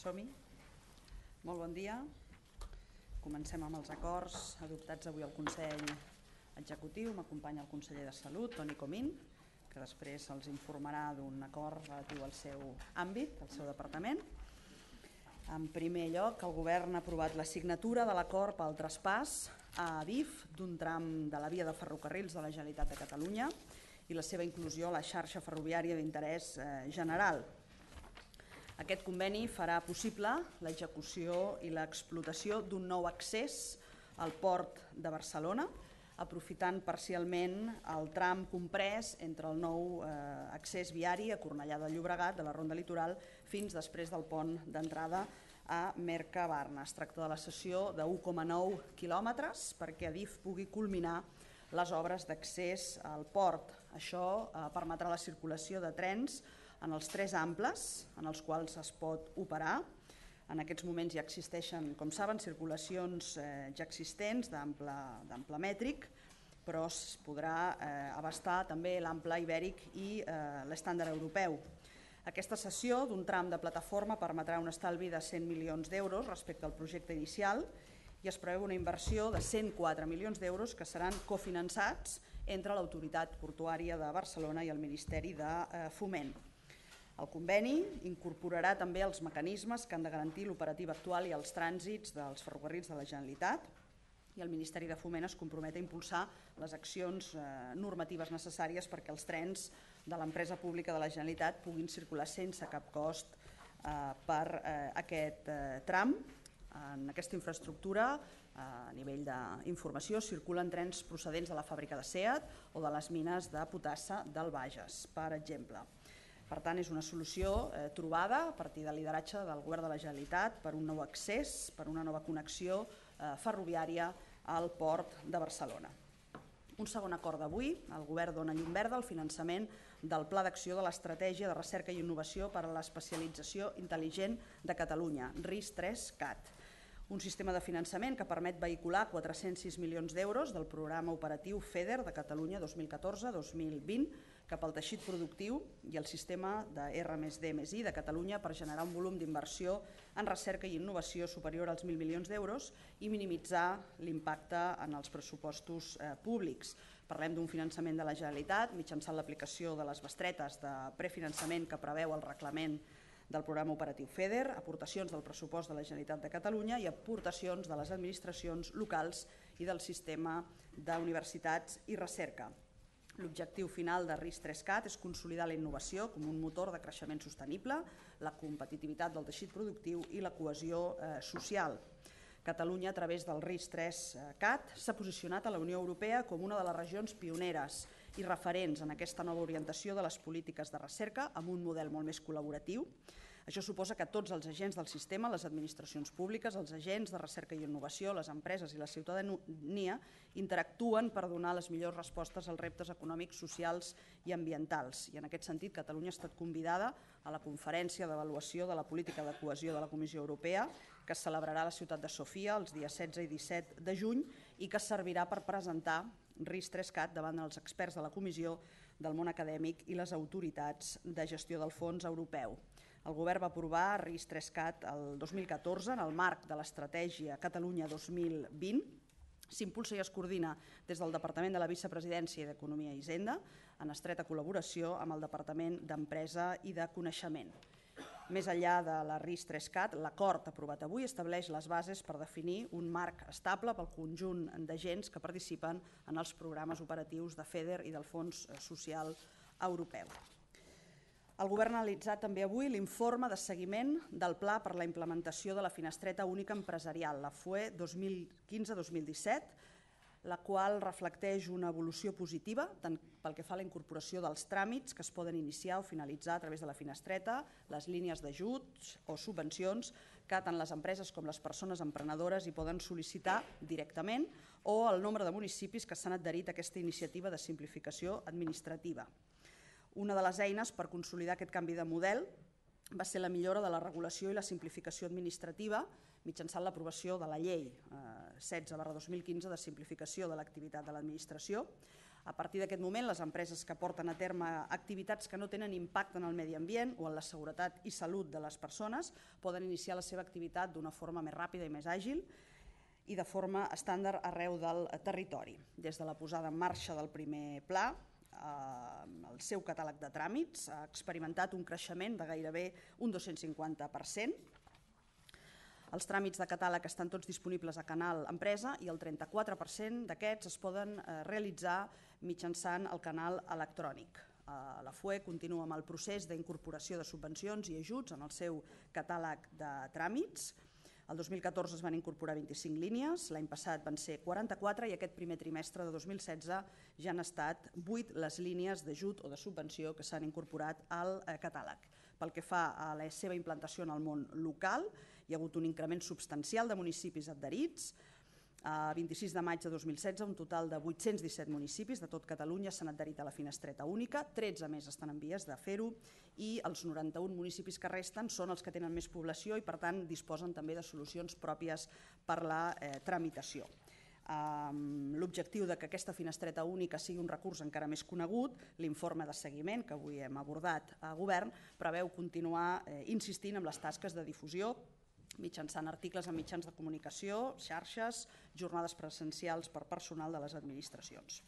Som-hi. Molt bon dia. Comencem amb els acords adoptats avui al Consell Executiu. M'acompanya el conseller de Salut, Toni Comín, que després els informarà d'un acord relatiu al seu àmbit, al seu departament. En primer lloc, el Govern ha aprovat la signatura de l'acord pel traspàs a Adif d'un tram de la via de ferrocarrils de la Generalitat de Catalunya i la seva inclusió a la xarxa ferroviària d'interès general. Aquest conveni farà possible l'execució i l'explotació d'un nou accés al port de Barcelona, aprofitant parcialment el tram comprès entre el nou accés viari a Cornellà de Llobregat, de la Ronda Litoral, fins després del pont d'entrada a Mercabarna. Es tracta de la cessió de 1,9 quilòmetres perquè Adif pugui culminar les obres d'accés al port. Això permetrà la circulació de trens en els tres amples en els quals es pot operar. En aquests moments ja existeixen, com saben, circulacions ja existents d'ample mètric, però es podrà abastar també l'ample ibèric i l'estàndard europeu. Aquesta cessió d'un tram de plataforma permetrà un estalvi de 100 milions d'euros respecte al projecte inicial i es preveu una inversió de 104 milions d'euros que seran cofinançats entre l'Autoritat Portuària de Barcelona i el Ministeri de Foment. El conveni incorporarà també els mecanismes que han de garantir l'operativa actual i els trànsits dels ferrocarrils de la Generalitat i el Ministeri de Foment es compromet a impulsar les accions normatives necessàries perquè els trens de l'empresa pública de la Generalitat puguin circular sense cap cost per aquest tram. En aquesta infraestructura, a nivell d'informació, circulen trens procedents de la fàbrica de SEAT o de les mines de potassa del Bages, per exemple. Per tant, és una solució trobada a partir del lideratge del Govern de la Generalitat per un nou accés, per una nova connexió ferroviària al port de Barcelona. Un segon acord d'avui, el Govern dona llum verda al finançament del Pla d'Acció de l'Estratègia de Recerca i Innovació per a l'Especialització Intel·ligent de Catalunya, RIS3CAT. Un sistema de finançament que permet vehicular 406 milions d'euros del programa operatiu FEDER de Catalunya 2014-2020 cap al teixit productiu i el sistema de R+D+I de Catalunya per generar un volum d'inversió en recerca i innovació superior als 1.000 milions d'euros i minimitzar l'impacte en els pressupostos públics. Parlem d'un finançament de la Generalitat mitjançant l'aplicació de les bestretes de prefinançament que preveu el reglament del programa operatiu FEDER, aportacions del pressupost de la Generalitat de Catalunya i aportacions de les administracions locals i del sistema d'universitats i recerca. L'objectiu final de RIS3CAT és consolidar la innovació com un motor de creixement sostenible, la competitivitat del teixit productiu i la cohesió social. Catalunya, a través del RIS3CAT, s'ha posicionat a la Unió Europea com una de les regions pioneres i referents en aquesta nova orientació de les polítiques de recerca amb un model molt més col·laboratiu. Això suposa que tots els agents del sistema, les administracions públiques, els agents de recerca i innovació, les empreses i la ciutadania interactuen per donar les millors respostes als reptes econòmics, socials i ambientals. I en aquest sentit, Catalunya ha estat convidada a la conferència d'avaluació de la política de cohesió de la Comissió Europea, que es celebrarà a la ciutat de Sofia els dies 16 i 17 de juny i que servirà per presentar RIS3CAT davant dels experts de la Comissió, del món acadèmic i les autoritats de gestió del fons europeu. El Govern va aprovar RIS3CAT el 2014 en el marc de l'Estratègia Catalunya 2020. S'impulsa i es coordina des del Departament de la Vicepresidència i d'Economia i Hisenda en estreta col·laboració amb el Departament d'Empresa i de Coneixement. Més enllà de la RIS3CAT, l'acord aprovat avui estableix les bases per definir un marc estable pel conjunt d'agents que participen en els programes operatius de FEDER i del Fons Social Europeu. El Govern ha analitzat també avui l'informe de seguiment del Pla per la implementació de la Finestreta Única Empresarial, la FUE 2015-2017, la qual reflecteix una evolució positiva tant pel que fa a la incorporació dels tràmits que es poden iniciar o finalitzar a través de la finestreta, les línies d'ajuts o subvencions que tant les empreses com les persones emprenedores hi poden sol·licitar directament o el nombre de municipis que s'han adherit a aquesta iniciativa de simplificació administrativa. Una de les eines per consolidar aquest canvi de model va ser la millora de la regulació i la simplificació administrativa mitjançant l'aprovació de la Llei 16/2015 de simplificació de l'activitat de l'administració. A partir d'aquest moment, les empreses que porten a terme activitats que no tenen impacte en el medi ambient o en la seguretat i salut de les persones poden iniciar la seva activitat d'una forma més ràpida i més àgil i de forma estàndard arreu del territori. Des de la posada en marxa del primer pla, el seu catàleg de tràmits ha experimentat un creixement de gairebé un 250%. Els tràmits de catàleg estan tots disponibles a Canal Empresa i el 34% d'aquests es poden realitzar mitjançant el canal electrònic. La FUE continua amb el procés d'incorporació de subvencions i ajuts en el seu catàleg de tràmits. El 2014 es van incorporar 25 línies, l'any passat van ser 44 i aquest primer trimestre de 2016 ja han estat 8 les línies d'ajut o de subvenció que s'han incorporat al catàleg. Pel que fa a la seva implantació en el món local, hi ha hagut un increment substancial de municipis adherits. A 26 de maig de 2016, un total de 817 municipis de tot Catalunya s'han adherit a la finestreta única, 13 més estan en vies de fer-ho i els 91 municipis que resten són els que tenen més població i per tant disposen també de solucions pròpies per la tramitació. L'objectiu que aquesta finestreta única sigui un recurs encara més conegut, l'informe de seguiment que avui hem abordat a Govern preveu continuar insistint en les tasques de difusió mitjançant articles en mitjans de comunicació, xarxes, jornades presencials per personal de les administracions.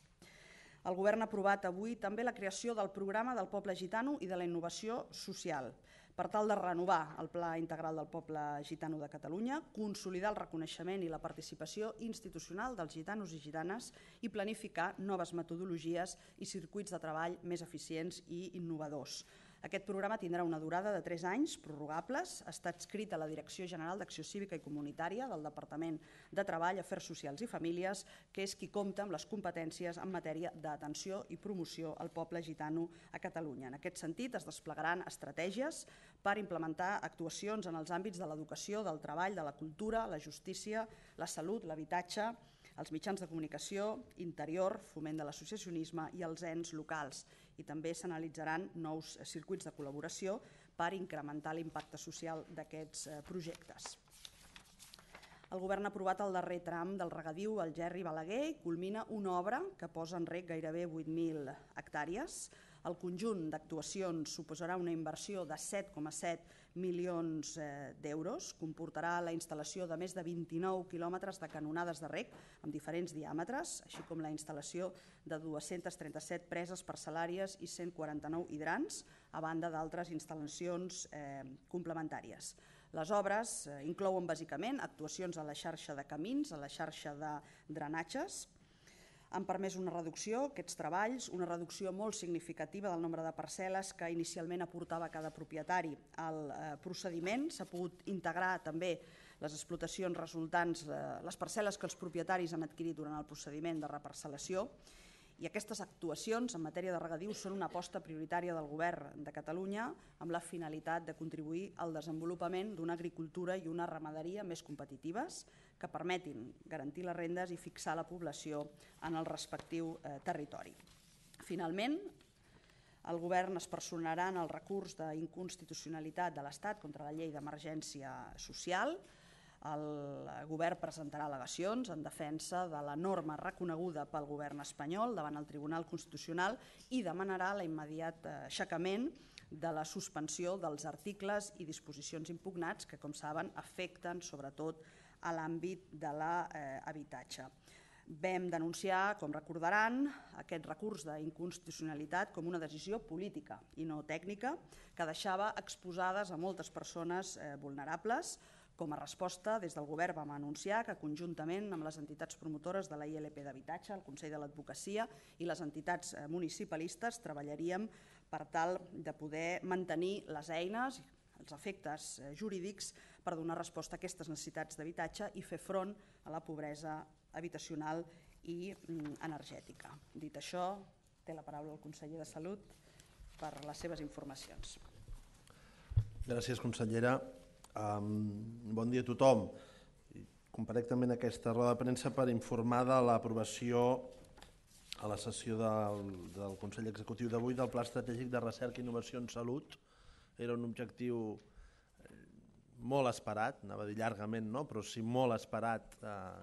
El Govern ha aprovat avui també la creació del programa del poble gitano i de la innovació social per tal de renovar el Pla Integral del Poble Gitano de Catalunya, consolidar el reconeixement i la participació institucional dels gitanos i gitanes i planificar noves metodologies i circuits de treball més eficients i innovadors. Aquest programa tindrà una durada de 3 anys, prorrogables. Està adscrit a la Direcció General d'Acció Cívica i Comunitària del Departament de Treball, Afers Socials i Famílies, que és qui compta amb les competències en matèria d'atenció i promoció al poble gitano a Catalunya. En aquest sentit, es desplegaran estratègies per implementar actuacions en els àmbits de l'educació, del treball, de la cultura, la justícia, la salut, l'habitatge, els mitjans de comunicació, interior, foment de l'associacionisme i els ens locals. I també s'analitzaran nous circuits de col·laboració per incrementar l'impacte social d'aquests projectes. El Govern ha aprovat el darrer tram del regadiu al Gerri-Balaguer i culmina una obra que posa en reg gairebé 8.000 hectàrees. El conjunt d'actuacions suposarà una inversió de 7,7 milions d'euros, comportarà la instal·lació de més de 29 quilòmetres de canonades de reg amb diferents diàmetres, així com la instal·lació de 237 preses parcel·làries i 149 hidrants, a banda d'altres instal·lacions complementàries. Les obres inclouen bàsicament actuacions a la xarxa de camins, a la xarxa de drenatges. Han permès una reducció, aquests treballs, una reducció molt significativa del nombre de parcel·les que inicialment aportava cada propietari al procediment. S'ha pogut integrar també les explotacions resultants, les parcel·les que els propietaris han adquirit durant el procediment de reparcel·lació. I aquestes actuacions en matèria de regadiu són una aposta prioritària del Govern de Catalunya amb la finalitat de contribuir al desenvolupament d'una agricultura i una ramaderia més competitives que permetin garantir les rendes i fixar la població en el respectiu territori. Finalment, el Govern es personarà en el recurs d'inconstitucionalitat de l'Estat contra la llei d'emergència social. El Govern presentarà al·legacions en defensa de la norma reconeguda pel Govern espanyol davant el Tribunal Constitucional i demanarà l'immediat aixecament de la suspensió dels articles i disposicions impugnats que, com saben, afecten sobretot a l'àmbit de l'habitatge. Vam denunciar, com recordaran, aquest recurs d'inconstitucionalitat com una decisió política i no tècnica que deixava exposades a moltes persones vulnerables. Com a resposta, des del Govern vam anunciar que conjuntament amb les entitats promotores de la ILP d'habitatge, el Consell de l'Advocacia i les entitats municipalistes treballaríem per tal de poder mantenir les eines, els efectes jurídics per donar resposta a aquestes necessitats d'habitatge i fer front a la pobresa habitacional i energètica. Dit això, té la paraula el conseller de Salut per les seves informacions. Gràcies, consellera. Bon dia a tothom. Comparec també en aquesta roda de premsa per informar de l'aprovació a la sessió del Consell Executiu d'avui del Pla Estratègic de Recerca i Innovació en Salut. Era un objectiu molt esperat, anava a dir llargament no, però sí molt esperat,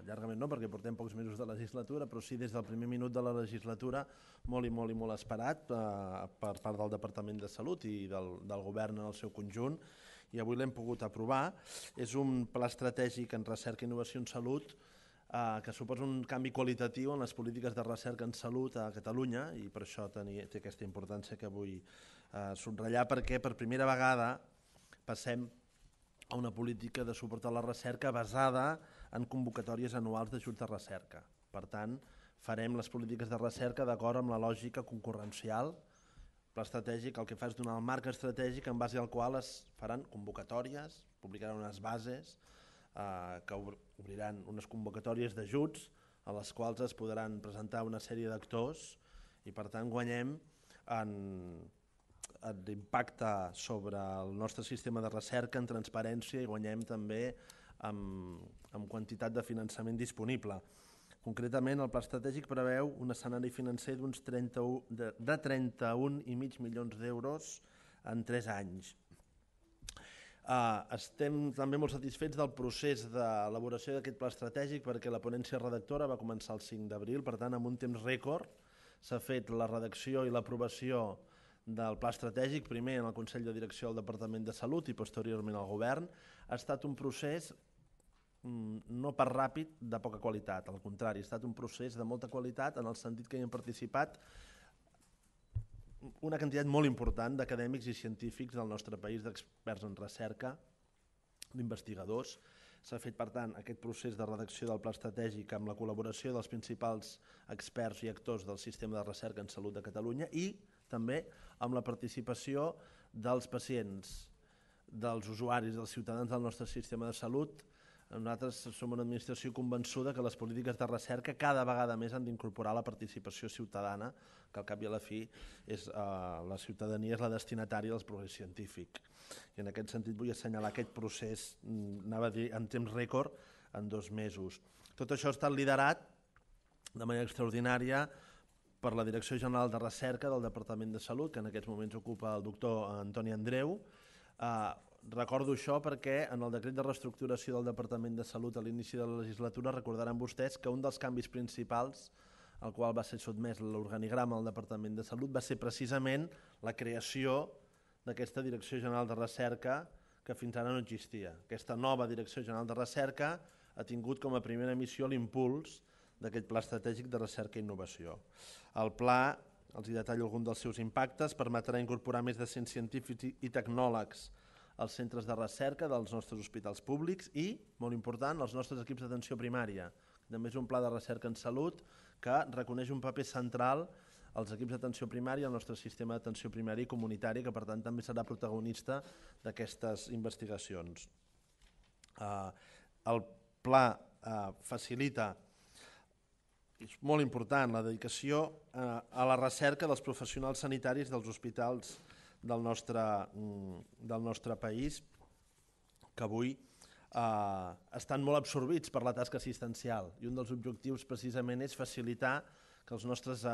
llargament no perquè portem pocs mesos de legislatura, però sí des del primer minut de la legislatura molt i molt esperat per part del Departament de Salut i del govern en el seu conjunt, i avui l'hem pogut aprovar. És un pla estratègic en recerca i innovació en salut que suposa un canvi qualitatiu en les polítiques de recerca en salut a Catalunya, i per això té aquesta importància que vull subratllar, perquè per primera vegada passem a una política de suport a la recerca basada en convocatòries anuals d'ajuts de recerca. Per tant, farem les polítiques de recerca d'acord amb la lògica concurrencial. El pla estratègic el que fa és donar el marc estratègic en base al qual es faran convocatòries, publicaran unes bases que obriran unes convocatòries d'ajuts a les quals es podran presentar una sèrie d'actors, i per tant guanyem en l'impacte sobre el nostre sistema de recerca, en transparència, i guanyem també en quantitat de finançament disponible. Concretament, el pla estratègic preveu un escenari financer de 31,5 milions d'euros en 3 anys. Estem també molt satisfets del procés d'elaboració d'aquest pla estratègic, perquè la ponència redactora va començar el 5 d'abril, per tant, en un temps rècord s'ha fet la redacció i l'aprovació del pla estratègic, primer en el Consell de Direcció del Departament de Salut i posteriorment al Govern. Ha estat un procés no pas ràpid, de poca qualitat, al contrari, ha estat un procés de molta qualitat en el sentit que hi han participat una quantitat molt important d'acadèmics i científics del nostre país, d'experts en recerca, d'investigadors. S'ha fet, per tant, aquest procés de redacció del pla estratègic amb la col·laboració dels principals experts i actors del sistema de recerca en salut de Catalunya, i també amb la participació dels pacients, dels usuaris, dels ciutadans del nostre sistema de salut. Nosaltres som una administració convençuda que les polítiques de recerca cada vegada més han d'incorporar la participació ciutadana, que al cap i a la fi la ciutadania és la destinatària del progrés científic. I en aquest sentit vull assenyalar aquest procés, anava a dir, en temps rècord, en 2 mesos. Tot això ha estat liderat de manera extraordinària per la Direcció General de Recerca del Departament de Salut, que en aquests moments ocupa el doctor Antoni Andreu. Recordo això perquè en el decret de reestructuració del Departament de Salut a l'inici de la legislatura recordaran vostès que un dels canvis principals al qual va ser sotmès l'organigrama del Departament de Salut va ser precisament la creació d'aquesta Direcció General de Recerca, que fins ara no existia. Aquesta nova Direcció General de Recerca ha tingut com a primera missió l'impuls d'aquest Pla Estratègic de Recerca i Innovació. El pla, els hi detallo algun dels seus impactes, permetrà incorporar més de 100 científics i tecnòlegs als centres de recerca dels nostres hospitals públics i, molt important, els nostres equips d'atenció primària. També és un pla de recerca en salut que reconeix un paper central als equips d'atenció primària, al nostre sistema d'atenció primària i comunitari, que per tant també serà protagonista d'aquestes investigacions. El pla facilita, és molt important, la dedicació a la recerca dels professionals sanitaris dels hospitals del nostre país, que avui estan molt absorbits per la tasca assistencial, i un dels objectius precisament és facilitar que els nostres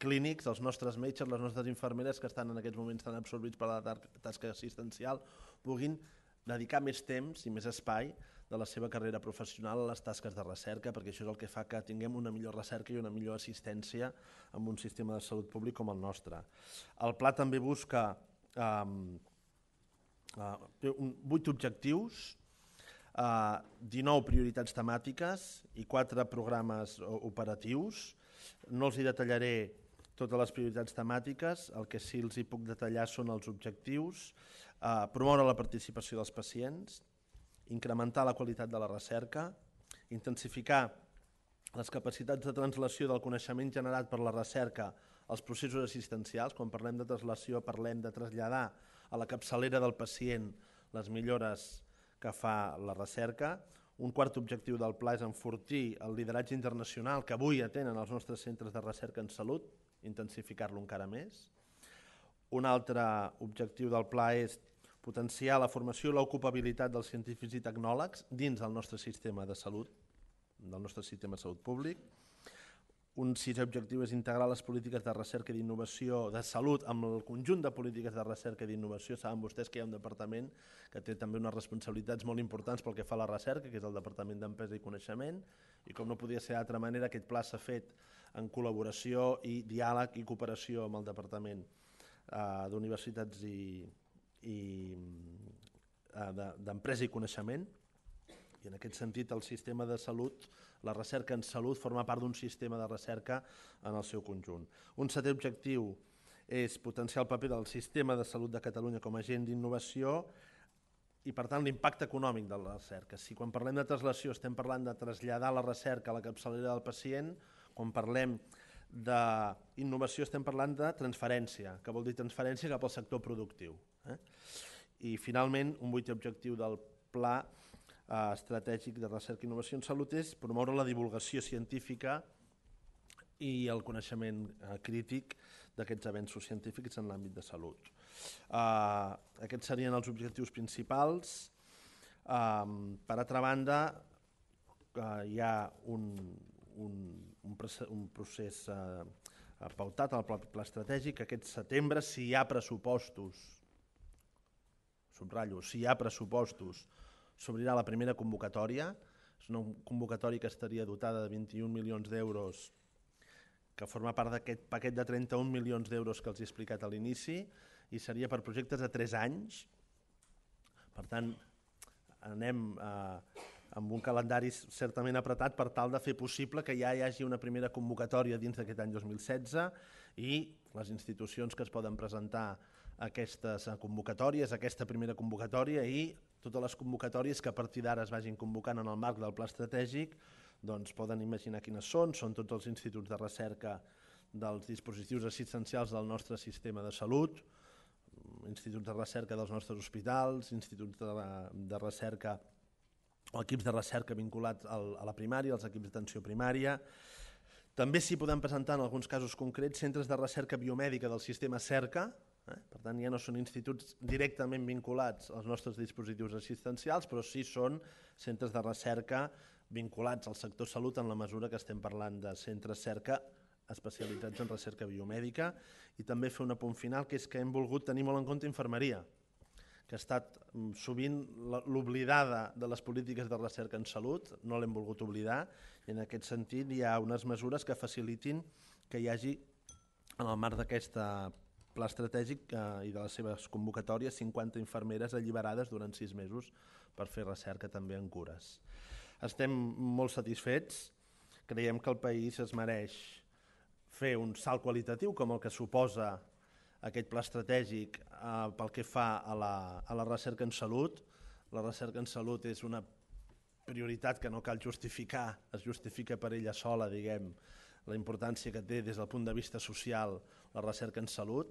clínics, els nostres metges, les nostres infermeres que estan en aquests moments tan absorbits per la tasca assistencial puguin dedicar més temps i més espai de la seva carrera professional a les tasques de recerca, perquè això és el que fa que tinguem una millor recerca i una millor assistència en un sistema de salut públic com el nostre. El pla també busca 8 objectius, 19 prioritats temàtiques i 4 programes operatius. No els hi detallaré totes les prioritats temàtiques, el que sí els hi puc detallar són els objectius: promoure la participació dels pacients, incrementar la qualitat de la recerca, intensificar les capacitats de translació del coneixement generat per la recerca als processos assistencials. Quan parlem de translació parlem de traslladar a la capçalera del pacient les millores que fa la recerca. Un quart objectiu del pla és enfortir el lideratge internacional que avui atenen els nostres centres de recerca en salut, intensificar-lo encara més. Un altre objectiu del pla és potenciar la formació i l'ocupabilitat dels científics i tecnòlegs dins del nostre sistema de salut, del nostre sistema de salut públic. Un sisè objectiu és integrar les polítiques de recerca i d'innovació de salut amb el conjunt de polítiques de recerca i d'innovació. Saben vostès que hi ha un departament que té també unes responsabilitats molt importants pel que fa a la recerca, que és el Departament d'Empresa i Coneixement, i com no podia ser d'altra manera, aquest pla s'ha fet en col·laboració i diàleg i cooperació amb el Departament d'Universitats d'Empresa i Coneixement. I en aquest sentit el sistema de salut, la recerca en salut, forma part d'un sistema de recerca en el seu conjunt. Un setè objectiu és potenciar el paper del sistema de salut de Catalunya com a agent d'innovació i, per tant, l'impacte econòmic de la recerca. Si quan parlem de translació estem parlant de traslladar la recerca a la capçalera del pacient, quan parlem d'innovació estem parlant de transferència, que vol dir transferència cap al sector productiu. I, finalment, un vuitè objectiu del Pla Estratègic de Recerca i Innovació en Salut és promoure la divulgació científica i el coneixement crític d'aquests avenços científics en l'àmbit de salut. Aquests serien els objectius principals. Per altra banda, hi ha un procés pautat al pla estratègic. Aquest setembre, si hi ha pressupostos, subratllo, si hi ha pressupostos, s'obrirà la primera convocatòria. És una convocatòria que estaria dotada de 21 milions d'euros, que forma part d'aquest paquet de 31 milions d'euros que els he explicat a l'inici, i seria per projectes de 3 anys. Per tant, anem amb un calendari certament apretat per tal de fer possible que ja hi hagi una primera convocatòria dins d'aquest any 2016 i les institucions que es poden presentar a aquestes convocatòries, aquesta primera convocatòria i totes les convocatòries que a partir d'ara es vagin convocant en el marc del pla estratègic, doncs poden imaginar quines són tots els instituts de recerca dels dispositius assistencials del nostre sistema de salut, instituts de recerca dels nostres hospitals, instituts de recerca o equips de recerca vinculats a la primària, als equips d'atenció primària. També s'hi poden presentar en alguns casos concrets centres de recerca biomèdica del sistema CERCA. Per tant, ja no són instituts directament vinculats als nostres dispositius assistencials, però sí són centres de recerca vinculats al sector salut en la mesura que estem parlant de centres CERCA especialitzats en recerca biomèdica. I també fer un apunt final, que és que hem volgut tenir molt en compte infermeria, que ha estat sovint l'oblidada de les polítiques de recerca en salut, no l'hem volgut oblidar, i en aquest sentit hi ha unes mesures que facilitin que hi hagi, en el marc d'aquest pla estratègic i de les seves convocatòries, 50 infermeres alliberades durant 6 mesos per fer recerca també en cures. Estem molt satisfets, creiem que el país es mereix fer un salt qualitatiu com el que suposa aquest pla estratègic pel que fa a la recerca en salut. La recerca en salut és una prioritat que no cal justificar, es justifica per ella sola, diguem, la importància que té des del punt de vista social la recerca en salut.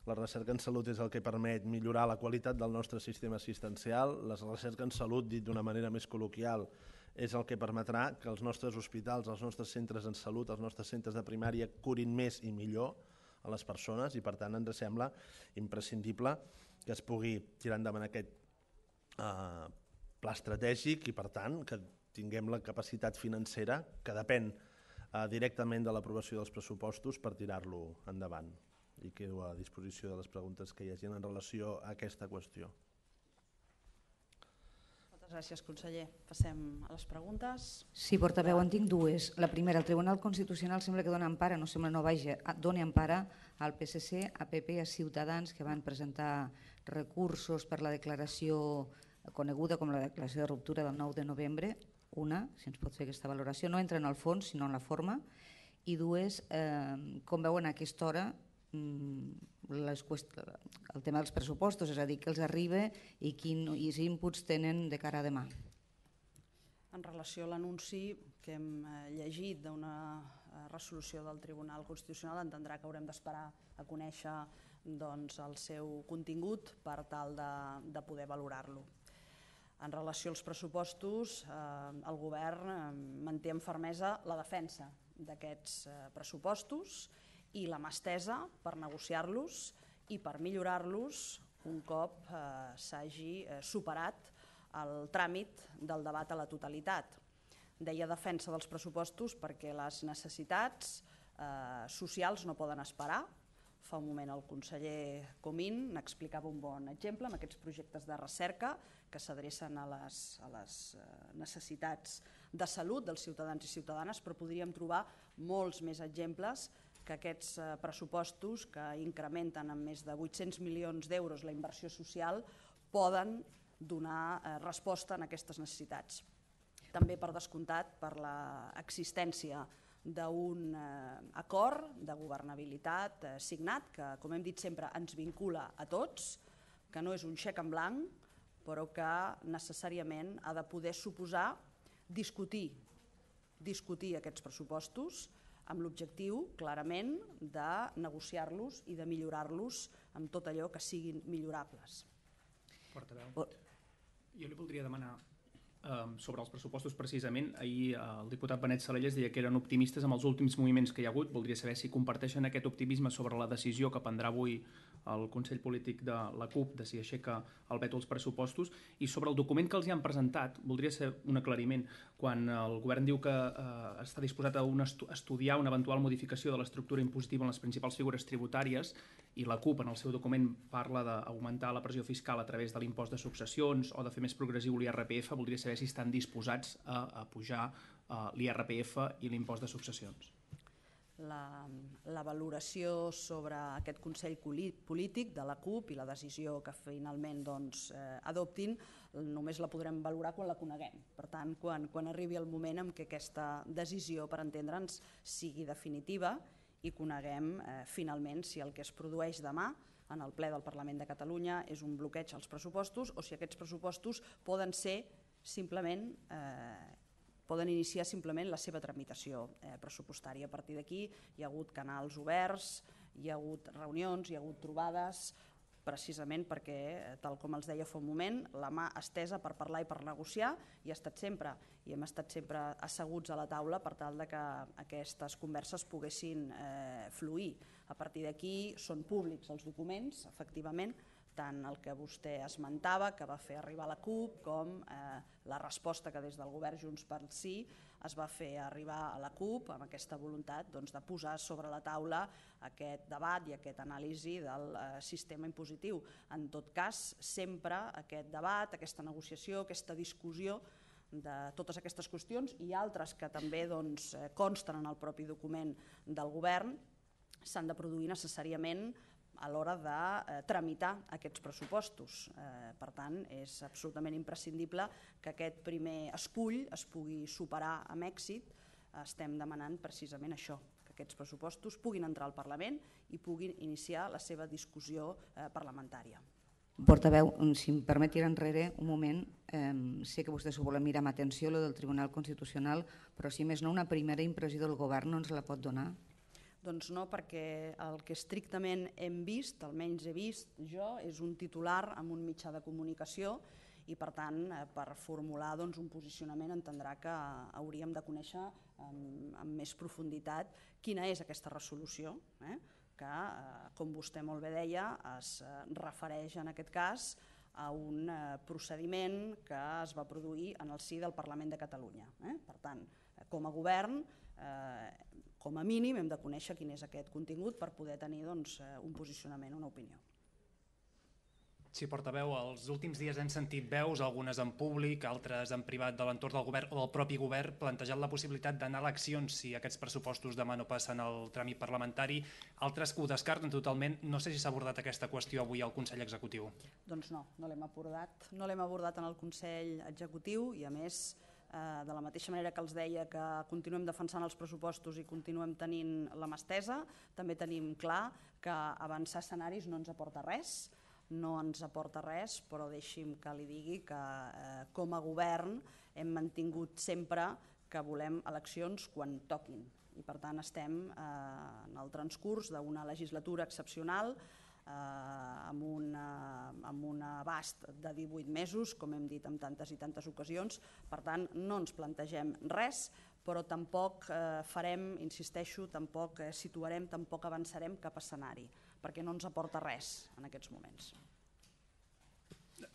La recerca en salut és el que permet millorar la qualitat del nostre sistema assistencial. La recerca en salut, dit d'una manera més col·loquial, és el que permetrà que els nostres hospitals, els nostres centres en salut, els nostres centres de primària curin més i millor a les persones i, per tant, ens sembla imprescindible que es pugui tirar endavant aquest pla estratègic i, per tant, que tinguem la capacitat financera que depèn directament de l'aprovació dels pressupostos per tirar-lo endavant. I quedo a disposició de les preguntes que hi hagi en relació a aquesta qüestió. Moltes gràcies, conseller. Passem a les preguntes. Sí, portaveu, en tinc dues. La primera, el Tribunal Constitucional sembla que dona empara, no sembla no vaja, dona empara al PSC, a PP i a Ciutadans, que van presentar recursos per la declaració coneguda com la declaració de ruptura del 9 de novembre. Una, si ens pot fer aquesta valoració, no entra en el fons, sinó en la forma. I dues, com veuen a aquesta hora el tema dels pressupostos, és a dir, que els arriba i quins inputs tenen de cara a demà. En relació a l'anunci que hem llegit d'una resolució del Tribunal Constitucional, entendrà que haurem d'esperar a conèixer el seu contingut per tal de poder valorar-lo. En relació als pressupostos, el govern manté amb fermesa la defensa d'aquests pressupostos i la mà estesa per negociar-los i per millorar-los un cop s'hagi superat el tràmit del debat a la totalitat. Deia defensa dels pressupostos perquè les necessitats socials no poden esperar. Fa un moment el conseller Comín n'explicava un bon exemple amb aquests projectes de recerca que s'adrecen a les necessitats de salut dels ciutadans i ciutadanes, però podríem trobar molts més exemples que aquests pressupostos que incrementen en més de 800 milions d'euros la inversió social poden donar resposta a aquestes necessitats. També, per descomptat, per l'existència d'un acord de governabilitat signat que, com hem dit sempre, ens vincula a tots, que no és un xec en blanc, però que necessàriament ha de poder suposar discutir aquests pressupostos amb l'objectiu, clarament, de negociar-los i de millorar-los amb tot allò que siguin millorables. Portaveu, jo li voldria demanar sobre els pressupostos precisament. Ahir el diputat Benet Salellas deia que eren optimistes amb els últims moviments que hi ha hagut. Voldria saber si comparteixen aquest optimisme sobre la decisió que prendrà avui el Consell Polític de la CUP de si aixeca el veto als pressupostos, i sobre el document que els hi han presentat voldria ser un aclariment. Quan el govern diu que està disposat a estudiar una eventual modificació de l'estructura impositiva en les principals figures tributàries, i la CUP en el seu document parla d'augmentar la pressió fiscal a través de l'impost de successions o de fer més progressiu l'IRPF, voldria saber si estan disposats a pujar l'IRPF i l'impost de successions. La valoració sobre aquest Consell Polític de la CUP i la decisió que finalment adoptin només la podrem valorar quan la coneguem. Per tant, quan arribi el moment en què aquesta decisió, per entendre'ns, sigui definitiva i coneguem finalment si el que es produeix demà en el ple del Parlament de Catalunya és un bloqueig als pressupostos o si aquests pressupostos poden iniciar simplement la seva tramitació pressupostària. A partir d'aquí hi ha hagut canals oberts, hi ha hagut reunions, hi ha hagut trobades, precisament perquè, tal com els deia fa un moment, la mà estesa per parlar i per negociar hi ha estat sempre, i hem estat sempre asseguts a la taula per tal que aquestes converses poguessin fluir. A partir d'aquí són públics els documents, efectivament, tant el que vostè esmentava, que va fer arribar la CUP, com la resposta que des del govern Junts pel Sí es va fer arribar a la CUP amb aquesta voluntat de posar sobre la taula aquest debat i aquest anàlisi del sistema impositiu. En tot cas, sempre aquest debat, aquesta negociació, aquesta discussió de totes aquestes qüestions i altres que també consten en el propi document del govern s'han de produir necessàriament a l'hora de tramitar aquests pressupostos. Per tant, és absolutament imprescindible que aquest primer escull es pugui superar amb èxit. Estem demanant precisament això, que aquests pressupostos puguin entrar al Parlament i puguin iniciar la seva discussió parlamentària. Portaveu, si em permet tirar enrere un moment, sé que vostè s'ho vol mirar amb atenció, lo del Tribunal Constitucional, però si més no, una primera impressió del govern no ens la pot donar? Doncs no, perquè el que estrictament hem vist, almenys he vist jo, és un titular amb un mitjà de comunicació i, per tant, per formular un posicionament entendrà que hauríem de conèixer amb més profunditat quina és aquesta resolució, que, com vostè molt bé deia, es refereix en aquest cas a un procediment que es va produir en el si del Parlament de Catalunya. Per tant, com a govern, com a mínim hem de conèixer quin és aquest contingut per poder tenir un posicionament, una opinió. Sí, portaveu, els últims dies hem sentit veus, algunes en públic, altres en privat de l'entorn del govern o del propi govern, plantejant la possibilitat d'anar a eleccions si aquests pressupostos demà no passen el tràmit parlamentari, altres que ho descarten totalment. No sé si s'ha abordat aquesta qüestió avui al Consell Executiu. Doncs no l'hem abordat. No l'hem abordat en el Consell Executiu i, a més, de la mateixa manera que els deia que continuem defensant els pressupostos i continuem tenint la mà estesa, també tenim clar que avançar escenaris no ens aporta res, però deixi'm que li digui que com a govern hem mantingut sempre que volem eleccions quan toquin i, per tant, estem en el transcurs d'una legislatura excepcional amb un abast de 18 mesos, com hem dit en tantes i tantes ocasions. Per tant, no ens plantegem res, però tampoc farem, insisteixo, tampoc situarem, tampoc avançarem cap escenari, perquè no ens aporta res en aquests moments.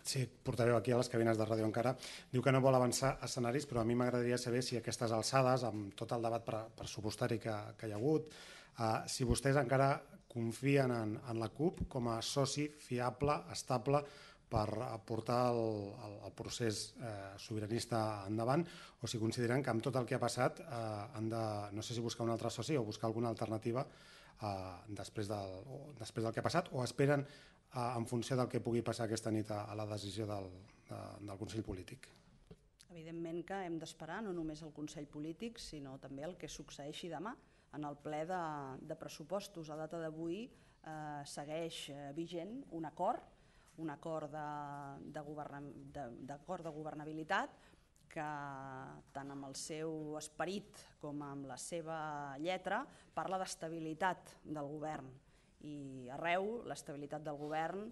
Sí, portaveu, aquí a les cabines de ràdio encara. Diu que no vol avançar escenaris, però a mi m'agradaria saber si aquestes alçades, amb tot el debat pressupostari que hi ha hagut, si vostès encara confien en la CUP com a soci fiable, estable, per portar el procés sobiranista endavant, o si consideren que amb tot el que ha passat han de, no sé si buscar un altre soci o buscar alguna alternativa després del que ha passat, o esperen en funció del que pugui passar aquesta nit a la decisió del Consell Polític. Evidentment que hem d'esperar no només el Consell Polític, sinó també el que succeeixi demà en el ple de pressupostos. A data d'avui segueix vigent un acord de governabilitat que tant amb el seu esperit com amb la seva lletra parla d'estabilitat del govern, i arreu l'estabilitat del govern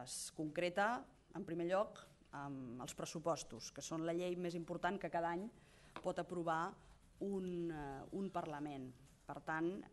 es concreta en primer lloc amb els pressupostos, que són la llei més important que cada any pot aprovar un Parlament. Per tant,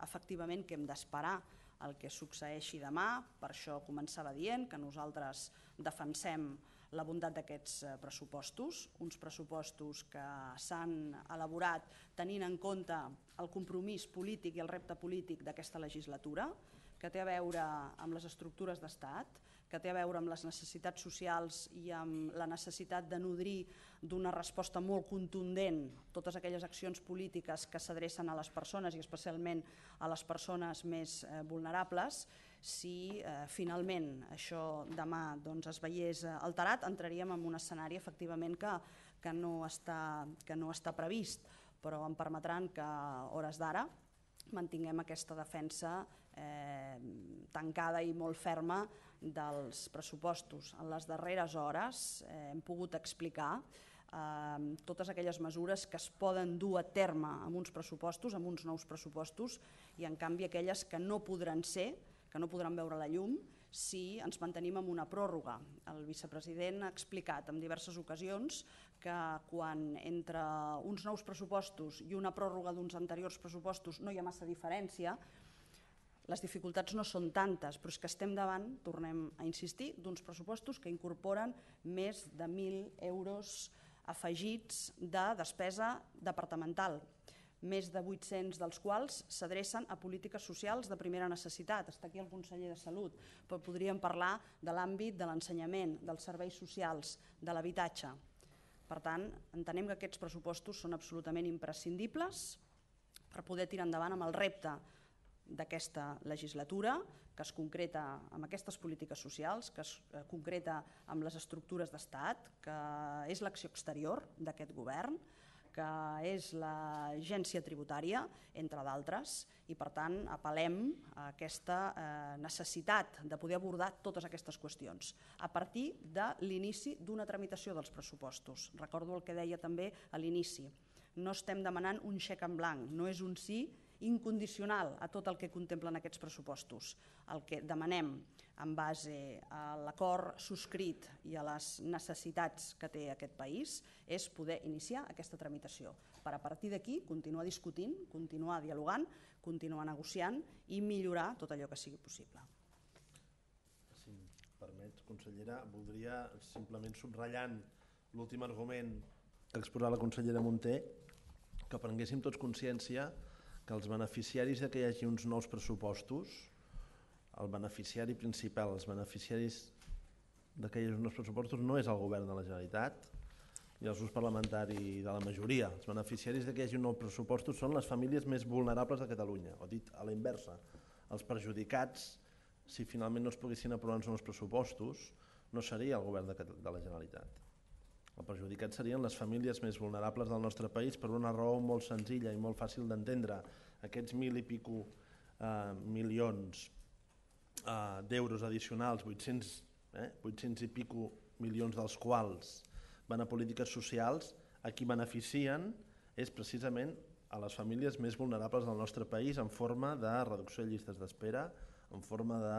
efectivament que hem d'esperar el que succeeixi demà. Per això començava dient que nosaltres defensem la bondat d'aquests pressupostos, uns pressupostos que s'han elaborat tenint en compte el compromís polític i el repte polític d'aquesta legislatura, que té a veure amb les estructures d'estat, que té a veure amb les necessitats socials i amb la necessitat de nodrir d'una resposta molt contundent totes aquelles accions polítiques que s'adrecen a les persones i especialment a les persones més vulnerables. Si finalment això demà es veiés alterat, entraríem en un escenari efectivament que no està previst, però em permetran que a hores d'ara mantinguem aquesta defensa tancada i molt ferma dels pressupostos. En les darreres hores hem pogut explicar totes aquelles mesures que es poden dur a terme amb uns pressupostos, amb uns nous pressupostos, i en canvi aquelles que no podran ser, que no podran veure la llum si ens mantenim en una pròrroga. El vicepresident ha explicat en diverses ocasions que quan entre uns nous pressupostos i una pròrroga d'uns anteriors pressupostos no hi ha massa diferència, les dificultats no són tantes, però és que estem davant, tornem a insistir, d'uns pressupostos que incorporen més de 1.000 euros afegits de despesa departamental, més de 800 dels quals s'adrecen a polítiques socials de primera necessitat. Està aquí el conseller de Salut, però podríem parlar de l'àmbit de l'ensenyament, dels serveis socials, de l'habitatge. Per tant, entenem que aquests pressupostos són absolutament imprescindibles per poder tirar endavant amb el repte d'aquesta legislatura, que es concreta amb aquestes polítiques socials, que es concreta amb les estructures d'estat, que és l'acció exterior d'aquest govern, que és l'agència tributària, entre d'altres, i per tant apel·lem a aquesta necessitat de poder abordar totes aquestes qüestions a partir de l'inici d'una tramitació dels pressupostos. Recordo el que deia també a l'inici, no estem demanant un xec en blanc, no és un sí incondicional a tot el que contemplen aquests pressupostos. El que demanem en base a l'acord subscrit i a les necessitats que té aquest país és poder iniciar aquesta tramitació, per a partir d'aquí continuar discutint, continuar dialogant, continuar negociant i millorar tot allò que sigui possible. Si em permet, consellera, voldria simplement subratllant l'últim argument que ha exposat la consellera Munté, que prenguéssim tots consciència que els beneficiaris que hi hagi uns nous pressupostos, el beneficiari principal, els beneficiaris que hi hagi uns nous pressupostos no és el govern de la Generalitat i els grups parlamentaris de la majoria. Els beneficiaris que hi hagi uns nous pressupostos són les famílies més vulnerables de Catalunya, o dit a la inversa, els perjudicats, si finalment no es poguessin aprovar uns nous pressupostos, no seria el govern de la Generalitat. El perjudicat serien les famílies més vulnerables del nostre país per una raó molt senzilla i molt fàcil d'entendre. Aquests 1.000 i pico milions d'euros addicionals, 800 i pico milions dels quals van a polítiques socials, a qui beneficien és precisament a les famílies més vulnerables del nostre país en forma de reducció de llistes d'espera, en forma de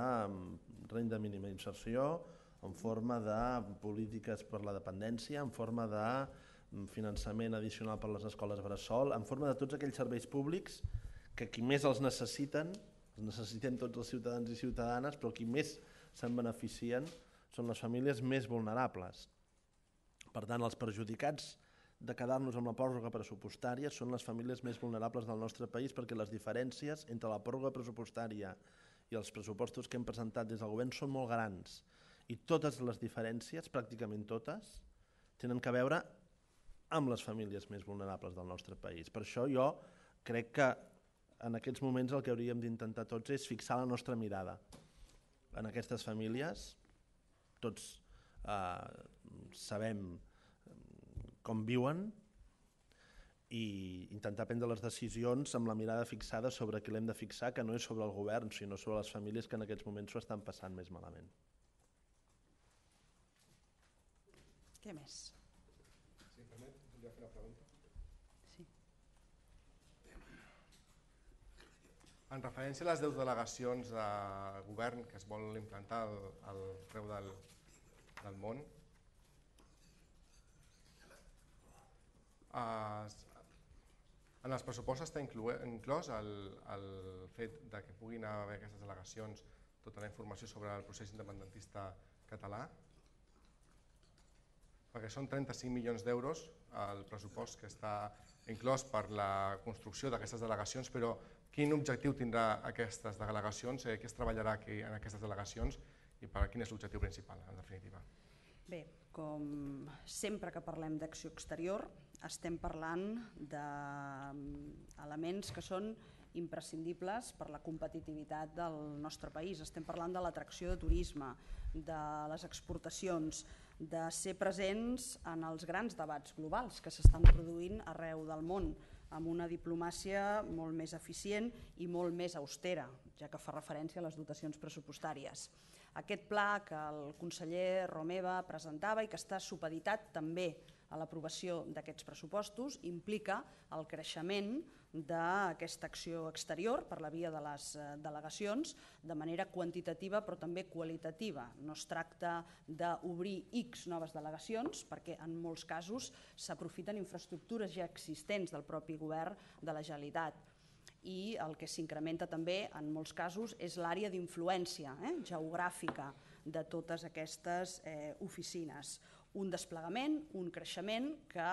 renda mínima d'inserció, en forma de polítiques per la dependència, en forma de finançament addicional per a les escoles bressol, en forma de tots aquells serveis públics que qui més els necessiten, els necessitem tots els ciutadans i ciutadanes, però qui més se'n beneficien són les famílies més vulnerables. Per tant, els perjudicats de quedar-nos amb la pròrroga pressupostària són les famílies més vulnerables del nostre país, perquè les diferències entre la pròrroga pressupostària i els pressupostos que hem presentat des del govern són molt grans, i totes les diferències, pràcticament totes, tenen a veure amb les famílies més vulnerables del nostre país. Per això jo crec que en aquests moments el que hauríem d'intentar tots és fixar la nostra mirada en aquestes famílies. Tots sabem com viuen i intentar prendre les decisions amb la mirada fixada sobre qui l'hem de fixar, que no és sobre el govern, sinó sobre les famílies que en aquests moments ho estan passant més malament. Què més? Sí, permet, volia fer una pregunta. Sí. En referència a les 10 delegacions de govern que es vol implantar arreu del món, en els pressupostos està inclòs el fet de que puguin haver aquestes delegacions tota la informació sobre el procés independentista català? Perquè són 35 milions d'euros el pressupost que està inclòs per la construcció d'aquestes delegacions, però quin objectiu tindrà aquestes delegacions, què es treballarà en aquestes delegacions i quin és l'objectiu principal, en definitiva? Bé, com sempre que parlem d'acció exterior, estem parlant d'elements que són imprescindibles per la competitivitat del nostre país. Estem parlant de l'atracció de turisme, de les exportacions, de ser presents en els grans debats globals que s'estan produint arreu del món, amb una diplomàcia molt més eficient i molt més austera, ja que fa referència a les dotacions pressupostàries. Aquest pla que el conseller Romeva presentava i que està supeditat també a l'aprovació d'aquests pressupostos implica el creixement d'aquesta acció exterior per la via de les delegacions de manera quantitativa però també qualitativa. No es tracta d'obrir X noves delegacions perquè en molts casos s'aprofiten infraestructures ja existents del propi govern de la Generalitat. I el que s'incrementa també en molts casos és l'àrea d'influència geogràfica de totes aquestes oficines. Un desplegament, un creixement que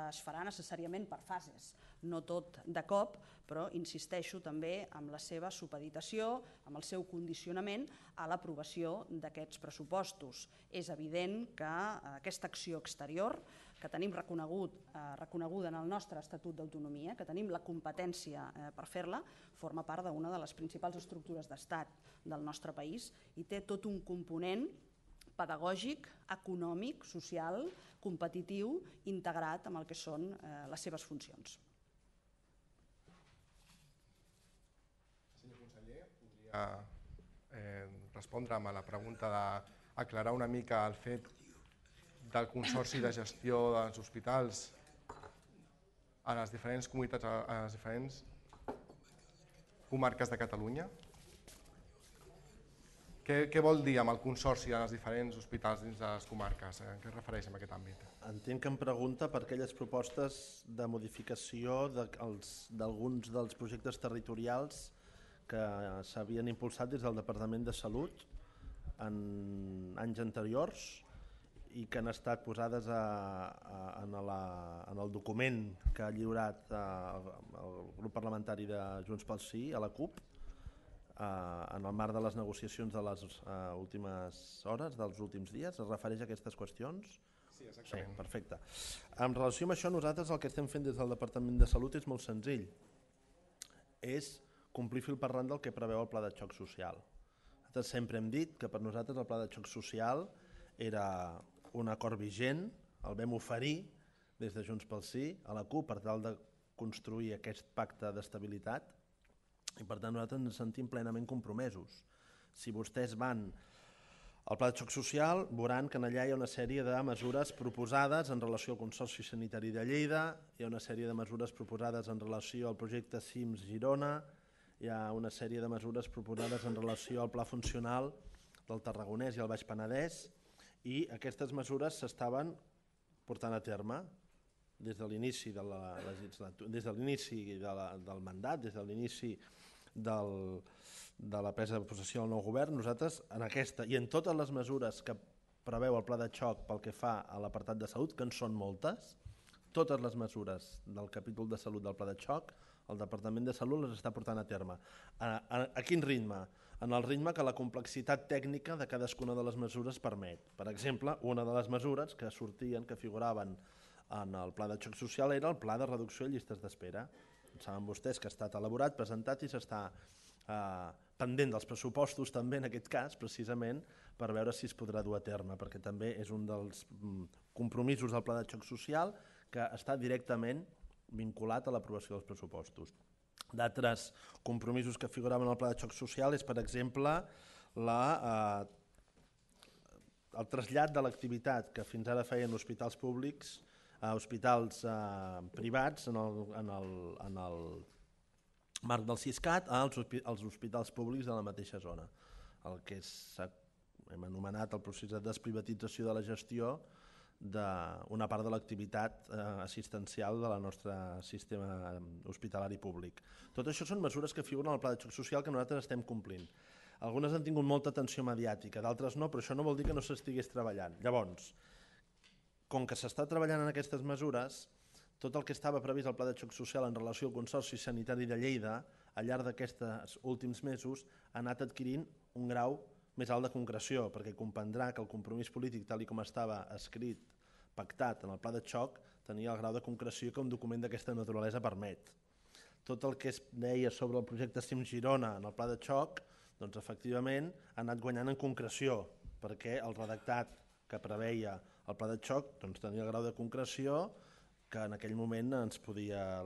es farà necessàriament per fases, no tot de cop, però insisteixo també amb la seva supeditació, amb el seu condicionament a l'aprovació d'aquests pressupostos. És evident que aquesta acció exterior que tenim reconeguda en el nostre Estatut d'Autonomia, que tenim la competència per fer-la, forma part d'una de les principals estructures d'estat del nostre país i té tot un component pedagògic, econòmic, social, competitiu, integrat amb el que són les seves funcions. Senyor conseller, podria respondre'm a la pregunta d'aclarar una mica el fet del Consorci de Gestió dels Hospitals a les diferents comunitats, a les diferents comarques de Catalunya? Què vol dir amb el Consorci de les diferents hospitals dins de les comarques? A què es refereix en aquest àmbit? Entenc que em pregunta per aquelles propostes de modificació d'alguns dels projectes territorials que s'havien impulsat des del Departament de Salut en anys anteriors i que han estat posades en el document que ha lliurat el grup parlamentari de Junts pel Sí a la CUP en el marc de les negociacions de les últimes hores, dels últims dies. Es refereix a aquestes qüestions? Sí, exactament. Sí, perfecte. En relació amb això, nosaltres el que estem fent des del Departament de Salut és molt senzill. És complir fil per randa el que preveu el Pla de Xoc Social. Nosaltres sempre hem dit que per nosaltres el Pla de Xoc Social era un acord vigent, el vam oferir des de Junts pel Sí a la CUP per tal de construir aquest pacte d'estabilitat i per tant nosaltres ens sentim plenament compromesos. Si vostès van al Pla de Xoc Social veuran que allà hi ha una sèrie de mesures proposades en relació al Consorci Sanitari de Lleida, hi ha una sèrie de mesures proposades en relació al projecte CIMS Girona, hi ha una sèrie de mesures proposades en relació al Pla Funcional del Tarragonès i el Baix Penedès i aquestes mesures s'estaven portant a terme des de l'inici de la legislatura, des de l'inici del mandat, des de l'inici de la presa de possessió del nou govern. Nosaltres en aquesta i en totes les mesures que preveu el pla de xoc pel que fa a l'apartat de salut, que en són moltes. Totes les mesures del capítol de salut del pla de xoc, el Departament de Salut les està portant a terme. A quin ritme? En el ritme que la complexitat tècnica de cadascuna de les mesures permet. Per exemple, una de les mesures que sortien, que figuraven en el pla de xoc social, era el pla de reducció de llistes d'espera. Saben vostès que ha estat elaborat, presentat i s'està pendent dels pressupostos també en aquest cas, precisament per veure si es podrà dur a terme, perquè també és un dels compromisos del pla de xoc social que està directament vinculat a l'aprovació dels pressupostos. D'altres compromisos que figuraven al pla de xoc social és, per exemple, el trasllat de l'activitat que fins ara feien hospitals públics a hospitals privats en el marc del Siscat als hospitals públics de la mateixa zona. El que hem anomenat el procés de desprivatització de la gestió d'una part de l'activitat assistencial del nostre sistema hospitalari públic. Tot això són mesures que figuren al pla de xoc social que nosaltres estem complint. Algunes han tingut molta atenció mediàtica, d'altres no, però això no vol dir que no s'estigués treballant. Llavors, com que s'està treballant en aquestes mesures, tot el que estava previst al pla de xoc social en relació al Consorci Sanitari de Lleida, al llarg d'aquests últims mesos, ha anat adquirint un grau més alt de concreció, perquè comprendrà que el compromís polític, tal com estava escrit, pactat en el pla de xoc, tenia el grau de concreció que un document d'aquesta naturalesa permet. Tot el que es deia sobre el projecte CIM Girona en el pla de xoc, doncs efectivament ha anat guanyant en concreció, perquè el redactat que preveia el pla de xoc tenia el grau de concreció que en aquell moment la